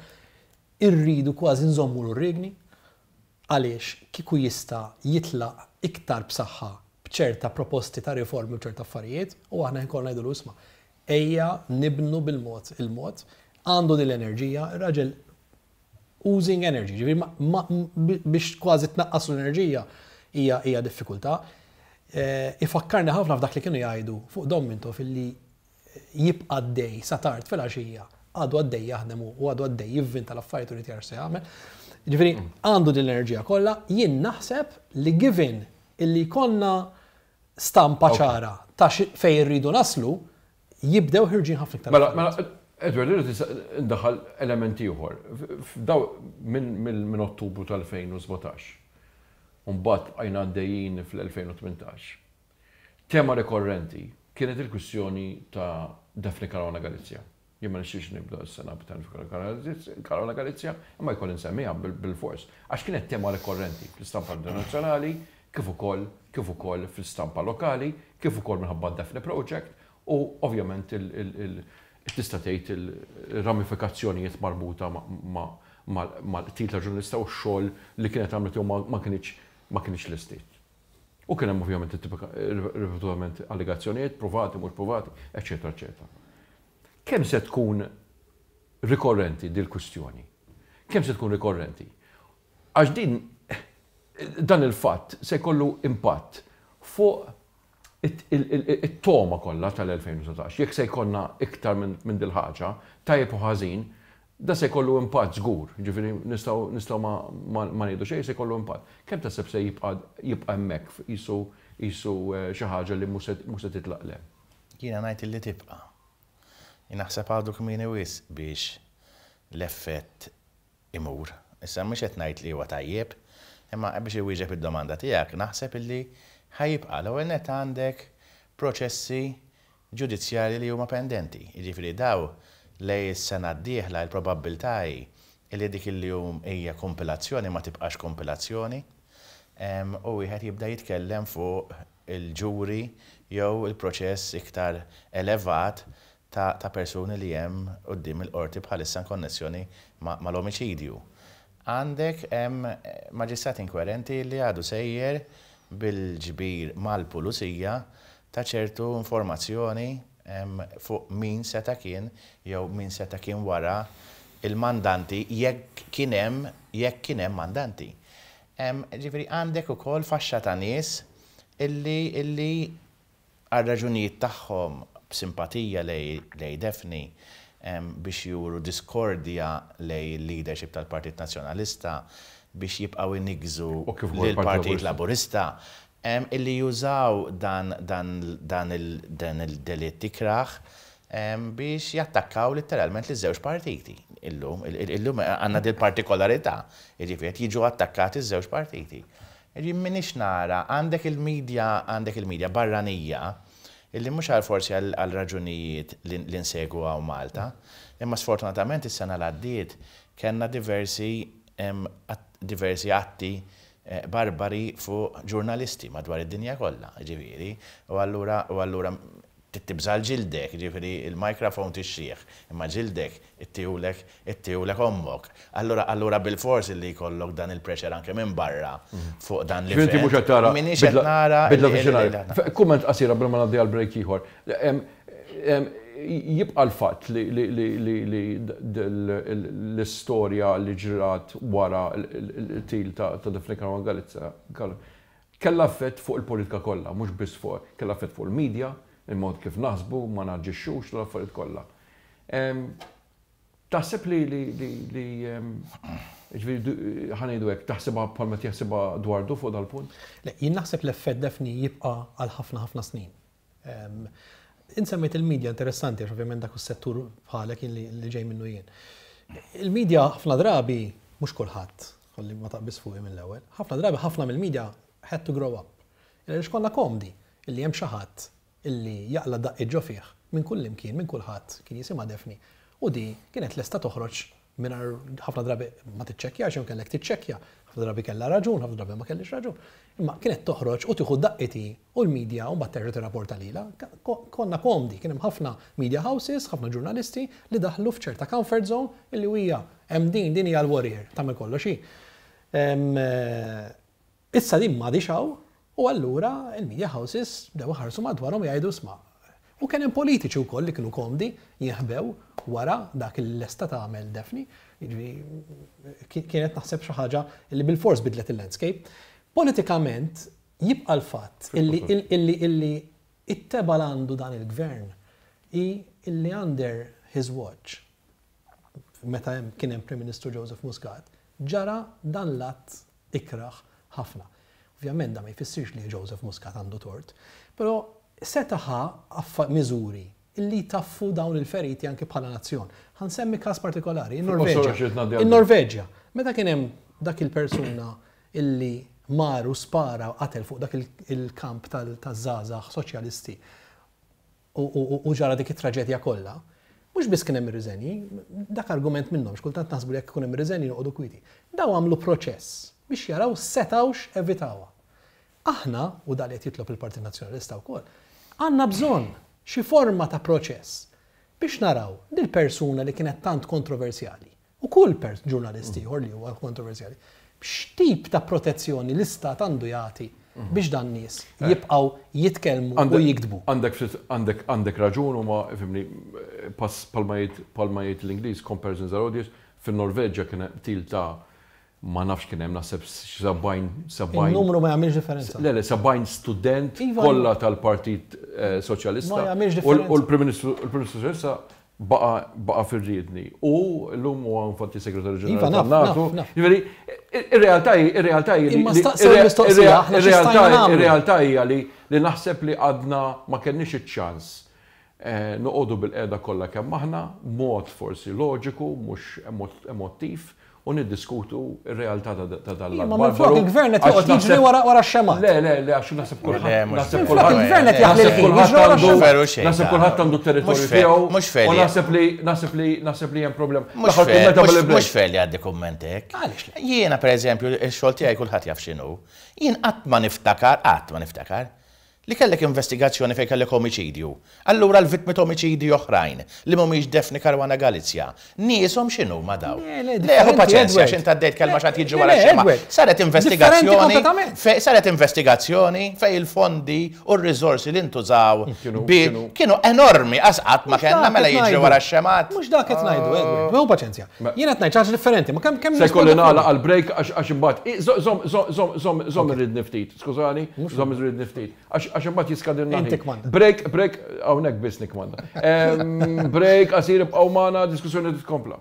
irridu kważi nżommulu r-riegni għaliex kieku jista' jitlaq iktar b'saħħa b'ċerta proposti ta' riformi u ċerta affarijiet u aħna ħin kollu ngħidulu isma' ejja nibnu bil-mod il-mod, għandu din l-enerġija, ir-raġel oozing energy, ġifieri biex kważi tnaqqas l-enerġija hija hija diffikultà. Eh, ifakkarni ħafna f'dak li kienu jgħidu fuq Dom Mintoff illi jibqa' għaddej sa tard filgħaxija, għadu għaddej jaħdem u għadu għaddej jivvinta l-affarijiet u jrid jara x'se jagħmel. Ġifieri għandu din l-enerġija kollha, jien naħseb li given illi jkollna stampa ċara ta' fejn irridu naslu, jibdew ħirġin ħafna iktar. Mela, mela, Edward, irrid indaħħal element ieħor. Daw minn Ottubru tal-2017. U mbagħad bqajna għaddejjin fl-2018. Tema rikorrenti kienet il-kwistjoni ta' Daphne Caruana Galizia. Jien ma nixtieqx nibda s-sena b'Daphne Caruana Galizia, imma jkolli nsemmiha bilfors, għax kienet tema rikorrenti fl-istampa internazzjonali, kif ukoll kif ukoll fl-istampa lokali, kif ukoll minħabba d-Daphne Project u ovvjament tista' tgħid il-ramifikazzjonijiet marbuta mal-qtil ta' ġurnalista u x-xogħol li kienet għamlet jew ma kinitx ma kinitx lestiet. U kien hemm ovvjament ripetutament allegazzjonijiet pruvati, mhux pruvati, eċċetera, eċċetera. Kemm se tkun rikorrenti dil-kwistjoni? Kemm se tkun rikorrenti? Għax din dan il-fatt se jkollu impatt fuq it-togħma kollha tal-2019. Jekk se jkollna iktar minn dil-ħaġa, tajjeb u ħażin, Da se jkollu impatt żgur, jiġifieri nistgħu nistgħu ma ma ngħidu xejn se jkollu impatt. Kemm taħseb se jibqa' jibqa' hemmhekk qisu qisu xi ħaġa li mhux se mhux se titlaq 'l hemm? Jiena ngħid illi tibqa'. Jien naħseb għadu kmieni wisq biex l-effett imur. Issa mhux qed ngħid li huwa tajjeb, imma biex iwieġeb id-domanda tiegħek naħseb illi ħa jibqa'. L-ewwel nett għandek proċessi ġudizzjarji li huma pendenti. Jiġifieri daw lejn is-sena d-dieħla il-probabbiltà hi li dik li hija kumpilazzjoni ma tibqax kumpilazzjoni u wieħed jibda jitkellem fuq il-ġuri jew il-proċess iktar elevat ta' persuni li hemm quddiem il-Qorti bħalissa in konnessjoni mal-omiċidju. Għandek maġistrat inkwerenti li għadu sejjer bil-ġbir mal-pulizija ta' ċertu informazzjoni fuq min seta' kien jew min seta' kien wara l-mandanti jekk kien hemm jekk kien hemm mandanti. Ġifieri għandek ukoll faxxa ta' nies illi illi għar-raġunijiet tagħhom b'simpatija lejn Daphne biex juru diskordja lejn il-leadership tal-Partit Nazzjonalista biex jibqgħu jniggżu lill-Partit Laburista illi jużaw dan dan il-delitt ikrah biex jattakkaw litteralment liż-żewġ partiti illum. Illum għandna dil-partikolarità, jiġifieri qed jiġu attakkati ż-żewġ partiti. Jien m'iniex nara, għandek il-media, għandek il-media barranija illi mhux għal forsi għal raġunijiet li nsegwu hawn Malta, imma sfortunatament is-sena l-għaddiet kellna diversi diversi atti barbari fuq ġurnalisti madwar id-dinja kollha, jiġifieri, u allura u allura trid tibża' għal ġildek, jiġifieri l-microphone tixtrih, imma ġildek ittihulek ittihulek ommok. Allura allura bilfors illi jkollok dan il-pressure anke minn barra fuq dan l-event. Ġifieri inti mhux qed tara M'iniex qed nara bidla fix-xenarju. Kumment qasir qabel ma ngħaddi għal break ieħor. Jibqa' l-fatt li l-istorja li ġrat wara l-qtil ta' Daphne Caruana Galizia. Kellha effett fuq il-politika kollha, mhux biss fuq, kellha effett fuq il-media, il-mod kif naħsbu, ma naġixxux, l-affarijiet kollha. Taħseb li li li li ġifieri ħa ngħidu hekk, taħsibha bħalma qed jaħsibha Dwardu fuq dal-punt? Le, jien naħseb l-effett Daphne jibqa' għal ħafna ħafna snin. Int semmejt il-media interessanti għax ovvjament dak is-settur bħalek jien li ġej minnu jien. Il-media ħafna drabi, mhux kulħadd, ħalli ma taqbiż fuqi mill-ewwel, ħafna drabi ħafna mill-media had to grow up. Għaliex konna komdi illi hemm xi ħadd illi jaqla' daqqiet ġo fih minn kullimkien, minn kulħadd, kien jisimha Daphne u di kienet lesta toħroġ mingħajr ħafna drabi ma tiċċekkjax jew kellek tiċċekkja, ħafna drabi kellha raġun, ħafna drabi ma kellhiex raġun. Imma kienet toħroġ u tieħu daqqiet hi u l-media u mbagħad terġa' tirrapporta lilha. Konna komdi, kien hemm ħafna media houses, ħafna ġurnalisti li daħlu f'ċerta comfort zone illi hija hemm din, din hija l-warrior, tagħmel kollox hi. Issa din m'għadhiex hawn u allura l-media houses bdew iħarsu madwarhom u jgħidu isma'. U kien hemm politiċi wkoll li kienu komdi jinħbew wara dak li lesta tagħmel Daphne. Jiġifieri kienet naħseb xi ħaġa li bilfors bidlet il-landscape. Politikament jibqa' l-fatt illi illi illi it-tebgħa l għandu dan il-gvern hi illi under his watch meta kien hemm Prim Ministru Joseph Muscat ġara dan l-att ikrah ħafna. Ovvjament dan ma jfissirx li Joseph Muscat għandu tort, però seta' ħa miżuri li jtaffu dawn il-feriti anki bħala nazzjon. Ħa nsemmi każ partikolari, in-Norveġja. In-Norveġja, meta kien hemm dak il-persuna illi mar u spara u qatel fuq dak il-kamp taż-żgħażagħ soċjalisti u ġara dik it-traġedja kollha, mhux biss kien hemm ir-riżenji, dak argument minnhom, x'kultant naħsbu li jekk ikun hemm ir-riżenji noqogħdu kwieti. Dawn għamlu proċess biex jaraw setgħux evitawha. Aħna, u dak li qed jitlob il-Partit Nazzjonalista wkoll, għandna bżonn xi forma ta' proċess biex naraw dil-persuna li kienet tant kontroversjali, u kull ġurnalist ieħor li huwa kontroversjali, x'tip ta' protezzjoni l-Istat għandu jagħti biex dan nies jibqgħu jitkellmu u jiktbu. Għandek ftit, għandek, għandek raġun huma, ifhimni, pass bħalma jgħid, bħalma jgħid l-Ingliż, comparisons are odious, fin-Norveġja kien hemm qtil ta' ma nafx kien hemm naħseb xi 70, 70. In-numru ma jagħmilx differenza. Le, le, 70 student kollha tal-Partit Soċjalista. Ma jagħmilx differenza. U l-Prim Ministru, il-Prim Ministru Soċjalista baqa' baqa' fir-riedni u llum huwa infatti Segretarju Ġenerali Iva, naf, tan-NATO. naf, naf. Jiġifieri, ir-realtà hi, ir-realtà hi li Imma staqsew il-mistoqsija, aħna xi stajna nagħmlu? Ir-realtà hija li li naħseb li għadna ma kellniex iċ-ċans noqogħdu bilqiegħda kollha kemm aħna, b'mod forsi loġiku, mhux emottiv, u niddiskutu r-realtà ta' dan l-att. Imma minflok il-gvern qed joqgħod jiġri wara wara x-xemgħat. Le, le, le, għax naħseb kulħadd. Naħseb kulħadd. Il-gvern qed jaħli l-ħin, jiġri wara x-xemgħat. Naħseb kulħadd għandu t-territorju tiegħu. Mhux fair. U naħseb li naħseb li naħseb li hemm problema. Mhux fair li għaddi kumment hekk. Għaliex le? Jiena pereżempju, ix-xogħol tiegħi kulħadd jaf x'inhu. Jien qatt ma niftakar, qatt ma niftakar, Li kellek investigazzjoni fejn kellek omiċidju. Allura l-vittmi ta' omiċidji oħrajn, li mhumiex Daphne Caruana Galizia, nieshom x'inhuma dawn? Le, le, Le, ħu differenti, paċenzja, Edward. għax int għaddejt kelma x'għad jiġri Le, wara le, x-xemgħa. Edward. Saret Differenti investigazzjoni kompletament. fejn saret investigazzjoni fejn il-fondi u r-riżorsi li ntużaw Kienu, bi kienu. kienu enormi, qas qatt ma Mhux kellna dak mela qed jiġri ngħidu. wara x-xemgħat. Mhux dak qed ngħidu, Edward. Ħu paċenzja. Jien qed ngħid xi ħaġa differenti, ma kemm kemm Se jkolli nisponda nagħlaq fuq. għall-break għax għax imbagħad. Żomm żomm żomm żomm żomm irridni ftit, skużani, żomm irridni ftit. Għax imbagħad jiskadilna Inti ħin. kmanda. Break, break, hawnhekk biss nikkmanda. Break, qasir ibqgħu magħna, diskussjoni titkompla.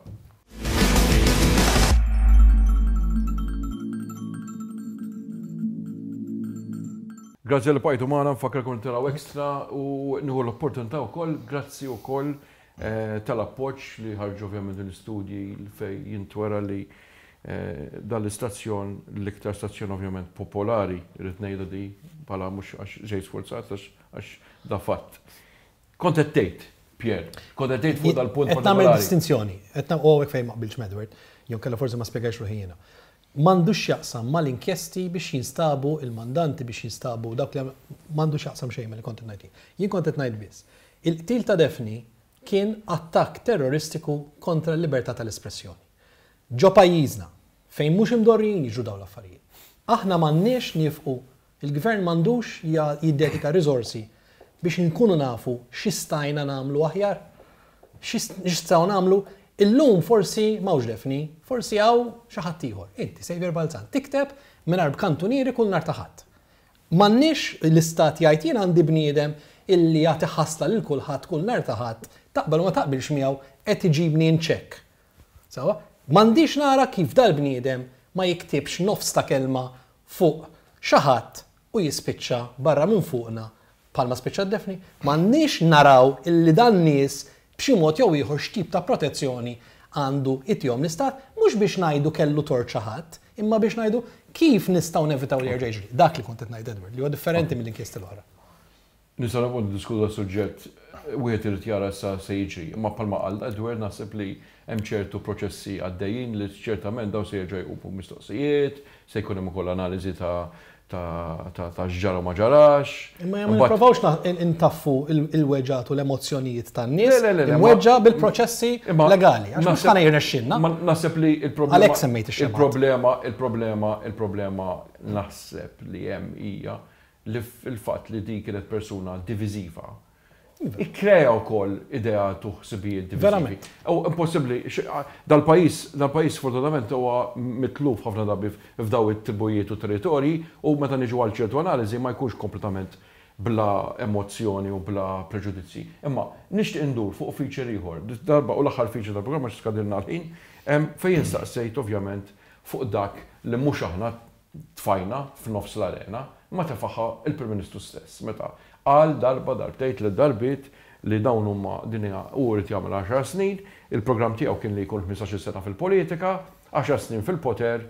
Grazzi li bqajtu magħna, nfakkarkom li taraw extra u nieħu l-opportunità wkoll, grazzi wkoll eh, tal-appoġġ li ħarġu ovvjament din l-istudji fej jintwera li Dan l-istazzjon, l-iktar stazzjon ovvjament popolari, irrid ngħidha di bħala mhux għax ġejt sfurzat għax da fatt. Kont qed tgħid, Pierre, kont qed tgħid fuq dal-punt Qed nagħmel distinzjoni, qed u hawnhekk fejn ma qbiltx m'Edward, jew kellha forsi ma spjegajtx ruħi jiena. M'għandux x'jaqsam mal-inkjesti biex jinstabu il-mandanti biex jinstabu dawk li m'għandu x'jaqsam xejn milli kont qed ngħid jien. Jien kont qed ngħid biss. Il-qtil ta' Daphne kien attakk terroristiku kontra l-libertà tal-espressjoni. Ġo pajjiżna, fejn mhux imdorrijin jiġru dawn l-affarijiet. Aħna m'għandniex niefqu, il-Gvern m'għandux jiddedika riżorsi biex inkunu nafu xi stajna nagħmlu aħjar, xi nistgħu nagħmlu. Illum forsi m'hawnx Daphne, forsi hawn xi ħadd ieħor. Inti, Saviour Balzan, tikteb mingħajr b'kantunieri kull nhar ta' Ħadd. M'għandniex l-istat jgħid jien għandi bniedem illi jagħti ħasla lil kulħadd kull nhar ta' Ħadd, taqbel u ma taqbilx miegħu qed iġibni in check. Sewwa? M'għandix nara kif dal-bniedem ma jiktibx nofs ta' kelma fuq xi ħadd u jispiċċa barra minn fuqna bħalma spiċċat Daphne. M'għandniex naraw illi dan-nies b'xi mod jew ieħor x'tip ta' protezzjoni għandu jtihom l-Istat, mhux biex ngħidu kellu tort xi ħadd, imma biex ngħidu kif nistgħu nevitaw li jerġa' jiġri. Dak li kont qed ngħid Edward, li huwa differenti mill-inkjesti l-oħra. Nistgħu nibqgħu niddiskutu das-suġġett, wieħed irid jara issa se jiġri. Imma bħalma qal Edward naħseb li hemm ċertu proċessi għaddejjin li ċertament dawn se jerġgħu jqumu mistoqsijiet, se jkun hemm ukoll analiżi ta' ta' x'ġara u ma ġarax. Imma ma nipprovawx intaffu l-weġgħat u l-emozzjonijiet tan-nies imweġġa' bil-proċessi legali. Għax mhux ħa jirnexxilna. Naħseb li l-problema. Għalhekk semmejt ix-xemgħat. Il-problema, il-problema, il-problema naħseb li hemm hija li l-fatt li din kienet persuna diviżiva Ikkrea wkoll ideat u ħsibijiet diviżivi. Verament. U impossibbli, dal-pajjiż, dal-pajjiż sfortunatament huwa mitluf ħafna drabi f'daw it-tribujiet u territorji u meta niġu għal ċertu analiżi ma jkunx kompletament bla emozzjoni u bla preġudizzji. Imma nixtieq indur fuq feature ieħor, darba u l-aħħar feature tal-programm għax skadilna l-ħin, fejn jien staqsejt ovvjament fuq dak li mhux aħna tfajna f'nofs l-arena, imma tefagħha il-Prim Ministru stess meta qal darba, darbtejn, tlett darbiet li dawn huma din hija hu jrid jagħmel għaxar snin, il-programm tiegħu kien li jkun ħmistax-il sena fil-politika, għaxar snin fil-poter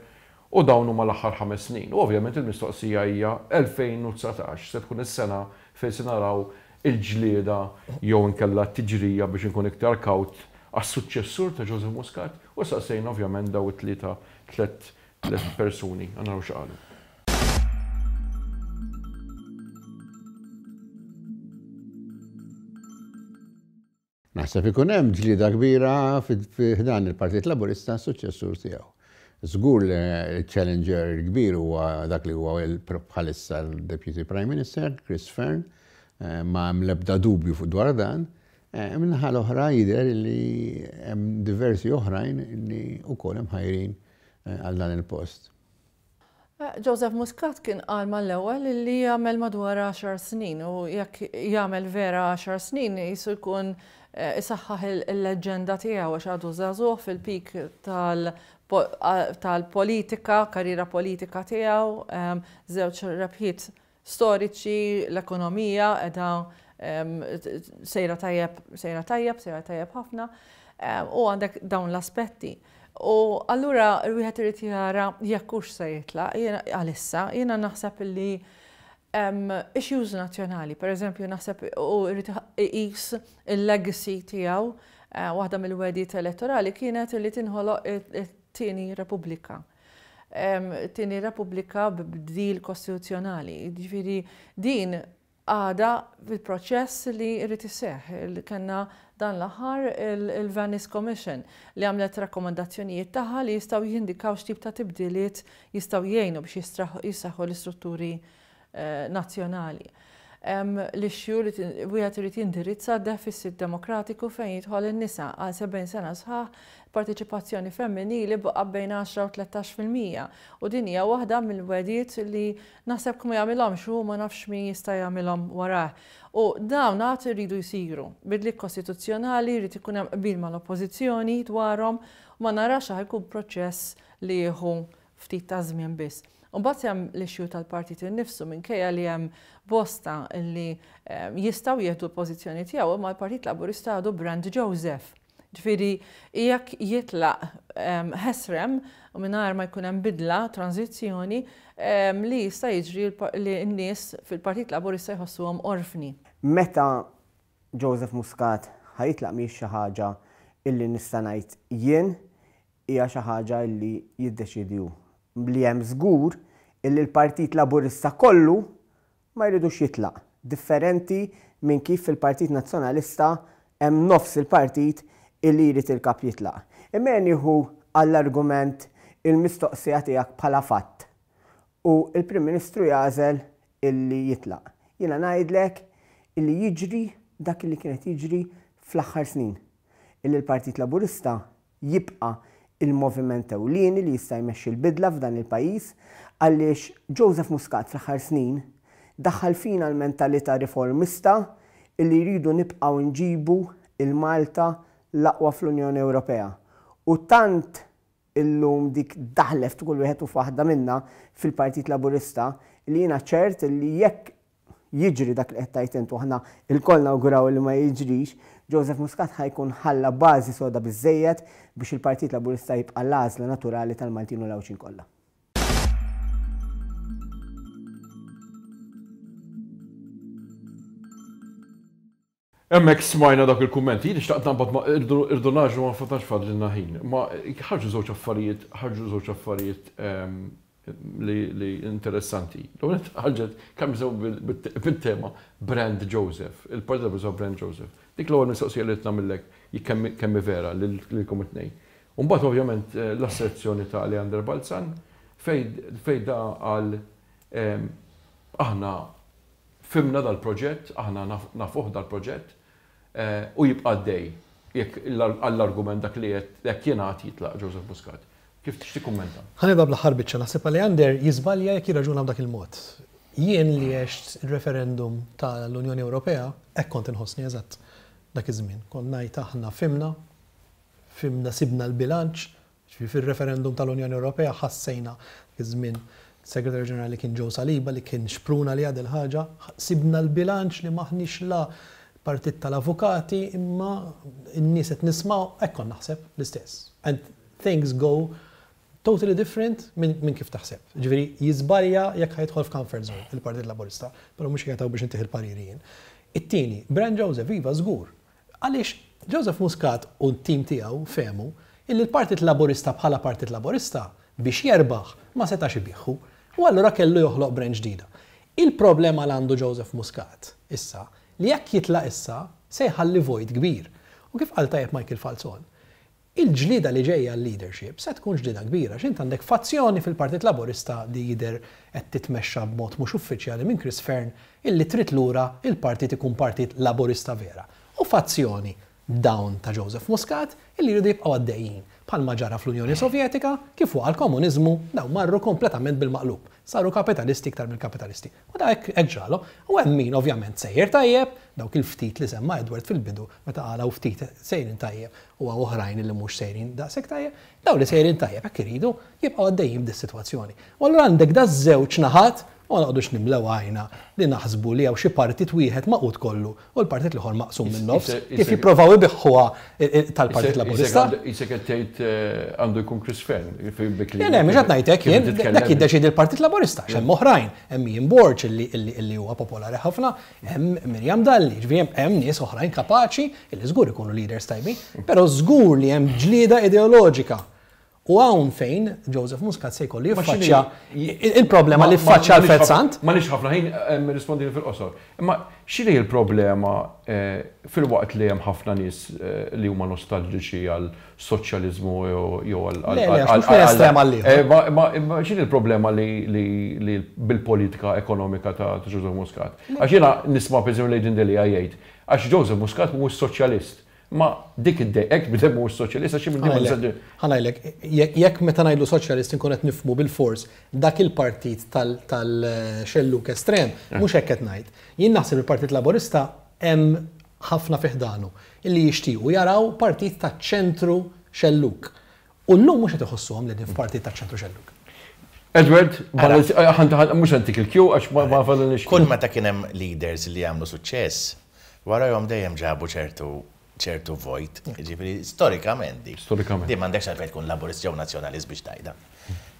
u dawn huma l-aħħar ħames snin. U ovvjament il-mistoqsija hija 2019 se tkun is-sena fejn se naraw il-ġlieda jew inkella t-tiġrija biex inkun iktar kawt għas-suċċessur ta' Joseph Muscat u saqsejna ovvjament dawn it-tlieta tlett tlett persuni, ħa naraw x'qalu. Naħseb ikun hemm ġlieda kbira fi ħdan il-Partit Laburista għas-suċċessur tiegħu. Żgur li l-challenger il-kbir huwa dak li huwa bħalissa l-Deputy Prime Minister, Chris Fearne, ma hemm l-ebda dubju fuq dwar dan. Min-naħa l-oħra jidher li hemm diversi oħrajn li wkoll imħajrin għal dan il-post. Joseph Muscat kien qal mal-ewwel li jagħmel madwar għaxar snin u jekk jagħmel vera għaxar snin qisu jkun isaħħaħ il-leġġenda tiegħu għax għadu żagħżugħ fil-peak tal-politika, karriera politika tiegħu, żewġ rebħiet storiċi, l-ekonomija qiegħda sejra tajjeb, sejra tajjeb, sejra tajjeb ħafna, u għandek dawn l-aspetti. U allura wieħed irid jara jekk hux se jitlaq, għalissa, jiena naħseb li issues nazzjonali, per eżempju, naħseb u jrid iqis il-legacy tiegħu, waħda mill-wegħdiet elettorali kienet li tinħoloq it-tieni Repubblika. Tieni Repubblika b'bdil kostituzzjonali. Jiġifieri din għadha fil-proċess li jrid iseħħ. Kellna dan l-aħħar il-Venice Commission li għamlet rakkomandazzjonijiet tagħha li jistgħu jindikaw x'tip ta' tibdiliet jistgħu jgħinu biex jissaħħu l-istrutturi nazzjonali. Hemm l-issue li wieħed irid jindirizza deficit demokratiku fejn jidħol in-nisa. Għal 70 sena sħaħ, il-parteċipazzjoni femminili baqgħet bejn 10 u 13% u din hija waħda mill-wegħdiet li naħseb kif ma jagħmilhomx hu ma nafx min jista' jagħmilhom warajh. U dawn għad iridu jsiru. Bidliet kostituzzjonali jrid ikun hemm qbil mal-Oppożizzjoni dwarhom u ma narax ħa jkun proċess li jieħu ftit taż-żmien biss. U mbagħad hemm l-issue tal-partit innifsu minkejja li hemm bosta li jistgħu jieħdu l-pożizzjoni tiegħu imma l-Partit Laburista għadu brand Joseph. Ġifieri jekk jitlaq ħesrem u mingħajr ma jkun hemm bidla, tranżizzjoni, li jista' jiġri li n-nies fil-Partit Laburista jħossuhom orfni. Meta Joseph Muscat ħa jitlaq mhijiex xi ħaġa illi nista' ngħid jien hija xi ħaġa illi jiddeċiedi hu. Li hemm żgur illi l-Partit Laburista kollu ma jridux jitlaq, differenti minn kif fil-Partit Nazzjonalista hemm nofs il-partit illi jrid il-Kap jitlaq. Imma ejja nieħu għall-argument il-mistoqsija tiegħek bħala fatt u l-Prim Ministru jagħżel illi jitlaq. Jiena ngħidlek illi jiġri dak illi kien qed jiġri fl-aħħar snin. Illi l-Partit Laburista jibqa' il-moviment ewlieni li jista' jmexxi l-bidla f'dan il-pajjiż għaliex Joseph Muscat fl-aħħar snin. Daħħal fina l-mentalità riformista illi jridu nibqgħu nġibu 'l Malta l-aqwa fl-Unjoni Ewropea. U tant illum dik daħlet f'kull wieħed u f'waħda minna fil-Partit Laburista li jiena ċert li jekk jiġri dak li qed tgħid int u aħna lkoll nawguraw li ma jiġrix, Joseph Muscat ħa jkun ħalla bażi soda biżżejjed biex il-Partit Laburista jibqa' l-għażla naturali tal-Maltin u l-Għawdxin kollha. Hemmhekk smajna dawk il-kummenti. Jien xtaqt naqbad ma' irridu ngħaġġlu ma tantx fadlilna ħin. Ma ħarġu żewġ affarijiet, ħarġu żewġ affarijiet li interessanti. L-ewwel nett ħarġet kemm nisimgħu bit-tema Brand Joseph, il-Partit Laburista Brand Joseph. Dik l-ewwel mistoqsija li qed nagħmillek kemm hi vera lilkom it-tnejn. U mbagħad ovvjament l-asserzjoni ta' Leander Balzan fejn da qal aħna Fhimna dal-proġett, aħna nafuh dal-proġett, u jibqa' għaddej jekk għall-argument dak li qed hekk jingħad jitlaq Joseph Muscat. Kif x'tikkummenta? Ħa nibda bl-aħħar biċċa. Naħseb Aleander jiżbalja jekk jirraġuna b'dak il-mod. Jien li għext ir-referendum tal-Unjoni Ewropea, hekk kont inħossni eżatt dak iż-żmien. Kont ngħid aħna fhimna, fhimna sibna l-bilanċ, Jiġifieri fir-referendum tal-Unjoni Ewropea ħassejna dak iż-żmien Segretarju Ġenerali kien Joe Saliba li kien xpruna għaliha dil-ħaġa, sibna l-bilanċ li m'aħniex la partit tal-avukati imma n-nies qed nismgħu, hekk kont naħseb l-istess. And things go totally different minn kif taħseb. Jiġifieri jiżbalja jekk ħa jidħol f'comfort zone il-Partit Laburista, però mhux qiegħed hawn biex intih il-pariri jien. It-tieni, Brand Joseph, iva żgur, Għaliex Joseph Muscat u t-tim tiegħu fehmu illi l-Partit Laburista bħala Partit Laburista biex jerbaħ ma setax ibiegħhu u allura kellu joħloq brand ġdida. Il-problema l għandu Joseph Muscat issa li jekk jitlaq issa se jħalli vojt kbir. U kif qal tajjeb Michael Falzon, Il-ġlieda li ġejja għal-leadership se tkun ġlieda kbira għax int għandek fazzjoni fil-Partit Laburista li jidher qed titmexxa b'mod mhux uffiċjali minn Chris Fearne illi trid lura il-partit ikun Partit Laburista vera u fazzjoni dawn ta' Joseph Muscat illi jridu jibqgħu għaddejjin bħalma ġara fl-Unjoni Sovjetika kif waqa' l-komuniżmu dawn marru kompletament bil-maqlub saru kapitalisti iktar mill-kapitalisti. U da hekk ġralhom. U hemm min ovvjament sejjer tajjeb, dawk il-ftit li semma Edward fil-bidu meta qal hawn ftit sejrin tajjeb u hawn oħrajn li mhux sejrin daqshekk tajjeb. Dawn li sejrin tajjeb hekk iridu jibqgħu għaddejjin b'dis-sitwazzjoni. U allura għandek daż-żewġ naħat u ma noqogħdux nimlew għajna li naħsbu li hawn xi partit wieħed magħqud kollu u l-partit l-ieħor maqsum min-nofs, kif jipprovaw ibiħħuha tal-Partit Laburista. Qisek qed tgħid għandu jkun Chris Fearne bi kliem. Le, le, mhux qed ngħid hekk jien, dak jiddeċiedi l-Partit Laburista, għax hemm oħrajn, hemm Ian Borg illi huwa popolari ħafna, hemm Miriam Dalli, jiġifieri hemm nies oħrajn kapaċi illi żgur ikunu leaders tajbin, però żgur li hemm ġlieda ideoloġika U hawn fejn Joseph Muscat se jkollu jiffaċċja il-problema li ffaċċja Alfred Sant. M'għandniex ħafna ħin, rispondini fil-qosor. Imma x'inhi l-problema filwaqt li hemm ħafna nies li huma nostalġiċi għal soċjaliżmu jew għal. Le, le, għax mhux minn estrem għal ieħor. Imma x'inhi l-problema li bil-politika ekonomika ta' Joseph Muscat? Għax jiena nisma' pereżempju lil Adrian Delia jgħid għax Joseph Muscat mhuwiex soċjalist. Ma dik iddejqek bidem mhuwiex soċjalist għax minn din Ħa ngħidlek, jekk meta ngħidlu soċjalist inkun qed nifhmu bilfors dak il-partit tal-xellug estrem, mhux hekk qed ngħid. Jien naħseb il-Partit Laburista hemm ħafna fi ħdanu illi jixtiequ jaraw partit taċ-ċentru xellug. U llum mhux qed iħossuhom li qegħdin f'partit taċ-ċentru xellug. Edward, mhux se ntik il-cue għax ma fadalniex ħin. Kull meta kien hemm leaders li għamlu suċċess, warajhom dejjem ġabu ċertu ċertu vojt. Jiġifieri storikament dik. Storikament. Din m'għandekx għalfejn tkun Laburist jew Nazzjonalist biex tgħidha.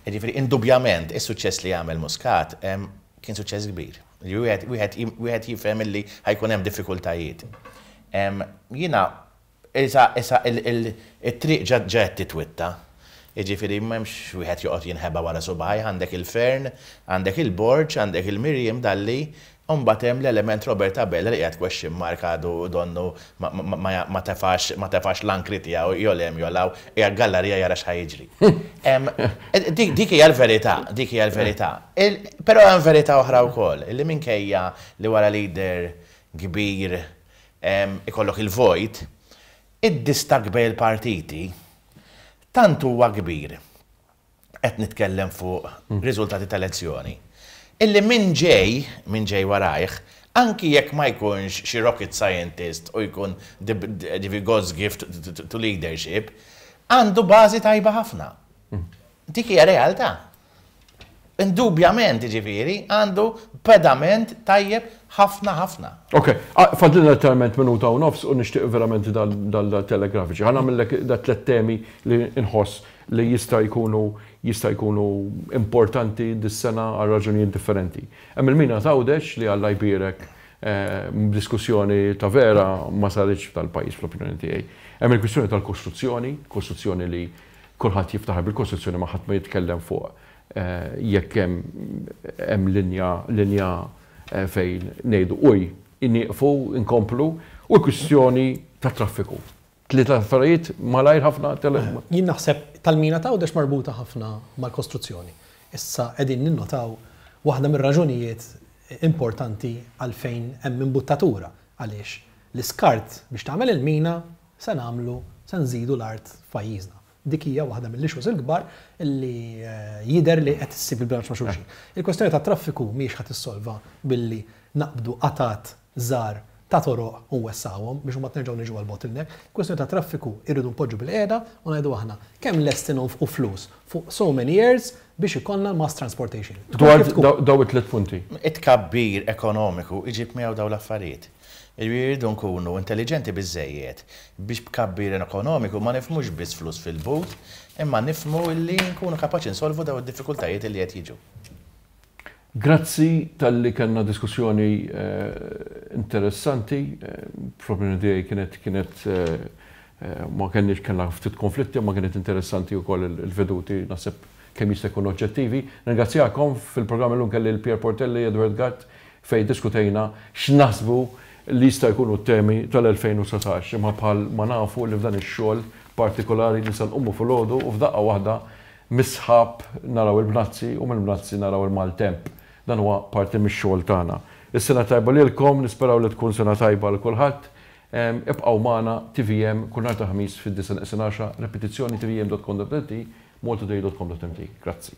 Jiġifieri indubbjament is-suċċess li għamel Muscat kien suċċess kbir. Wieħed wieħed jifhem illi ħa jkun hemm diffikultajiet. Jiena Issa, issa it-triq ġa ġa qed titwitta. Jiġifieri m'hemmx wieħed joqgħod jinħeba wara subgħajh, għandek il-Fearne, għandek il-Borg, għandek il-Miriam Dalli, u mbagħad hemm l-element Robert Abela li qiegħed question mark għadu donnu ma ma ma tefax ma tefax l-ankri tiegħu jew 'l hemm jew 'l hawn, qiegħed gallarija jara x'ħa jiġri. Dik dik hija l-verità, dik hija l-verità. Però hemm verità oħra wkoll, illi minkejja li wara leader kbir ikollok il-vojt, id-distakk bejn il-partiti tant huwa kbir, qed nitkellem fuq riżultati ta' elezzjoni, Illi min ġej, min ġej warajh, anki jekk ma jkunx xi rocket scientist u jkun ġifieri God's gift to leadership, għandu bażi tajba ħafna. Dik hija realtà. Indubjament, jiġifieri, għandu pedament tajjeb ħafna ħafna. Ok, fadlilna letteralment minuta u nofs u nixtieq verament dal-telegrafiċi. Ħa nagħmillek dat-tliet temi li nħoss li jista' jkunu jista' jkunu importanti dis-sena għal raġunijiet differenti. Hemm il-mina t'Għawdex li Alla jbierek diskussjoni ta' vera ma saritx f'dal-pajjiż fl-opinjoni tiegħi. Hemm il-kwistjoni tal-kostruzzjoni, kostruzzjoni li Kulħadd jiftaħar bil-Kostituzzjoni ma ħadd ma jitkellem fuq jekk hemm hemm linja linja fejn ngħidu uj, nieqfu, inkomplu, u l-kwistjoni tat-traffiku. Tlieta affarijiet malajr ħafna. Jien naħseb tal-mina t'Għawdex marbuta ħafna mal-kostruzzjoni. Issa qegħdin ninnotaw waħda mir-raġunijiet importanti għalfejn hemm imbuttatura għaliex l-iskart biex tagħmel il-mina se nagħmlu, se nżidu l-art f'pajjiżna. Dik hija waħda mill-issues il-kbar li jidher li qed issib il-bilanċ ma' xulxin. Il-kwestjoni tat-traffiku mhijiex ħa tissolva billi naqbdu qatgħat żgħar ta' toroq u nwessgħuhom biex imbagħad nerġgħu niġu għall-bottleneck. Il-kwestjoni tat-traffiku irridu npoġġu bilqiegħda u ngħidu aħna kemm lesti nonfqu flus fuq so many years biex ikollna l-mass transportation. Dwar dawn it-tliet punti. It-tkabbir ekonomiku jġib miegħu dawn l-affarijiet. Irridu nkunu intelliġenti biżżejjed biex b'tkabbir ekonomiku ma nifhmux biss flus fil-but, imma nifhmu illi nkunu kapaċi nsolvu dawn id-diffikultajiet illi qed jiġu. Grazzi talli kellna diskussjoni interessanti, fl-opinjoni tiegħi kienet kienet ma kenniex kellna ftit konflitti imma kienet interessanti wkoll il-veduti naħseb kemm jista' jkun oġġettivi. Nirringrazzjakom, fil-programm illum kelli lil Pierre Portelli, Edward Gatt, fejn iddiskutejna x'naħsbu li jista' jkunu t-temi tal-2019. Imma bħal ma nafu li f'dan ix-xogħol partikolari nista' nqumu filgħodu u f'daqqa waħda mis-sħab naraw il-bnazzi u mill-bnazzi naraw il-maltemp. Dan huwa parti mix-xogħol tagħna. Is-sena tajba lilkom, nisperaw li tkun sena tajba għal kulħadd. Ibqgħu magħna tvm kull nhar ta' Ħamis fid-disgħa neqsin għaxra, ripetizzjoni tvm.com.mt, maltatoday.com.mt. Grazzi.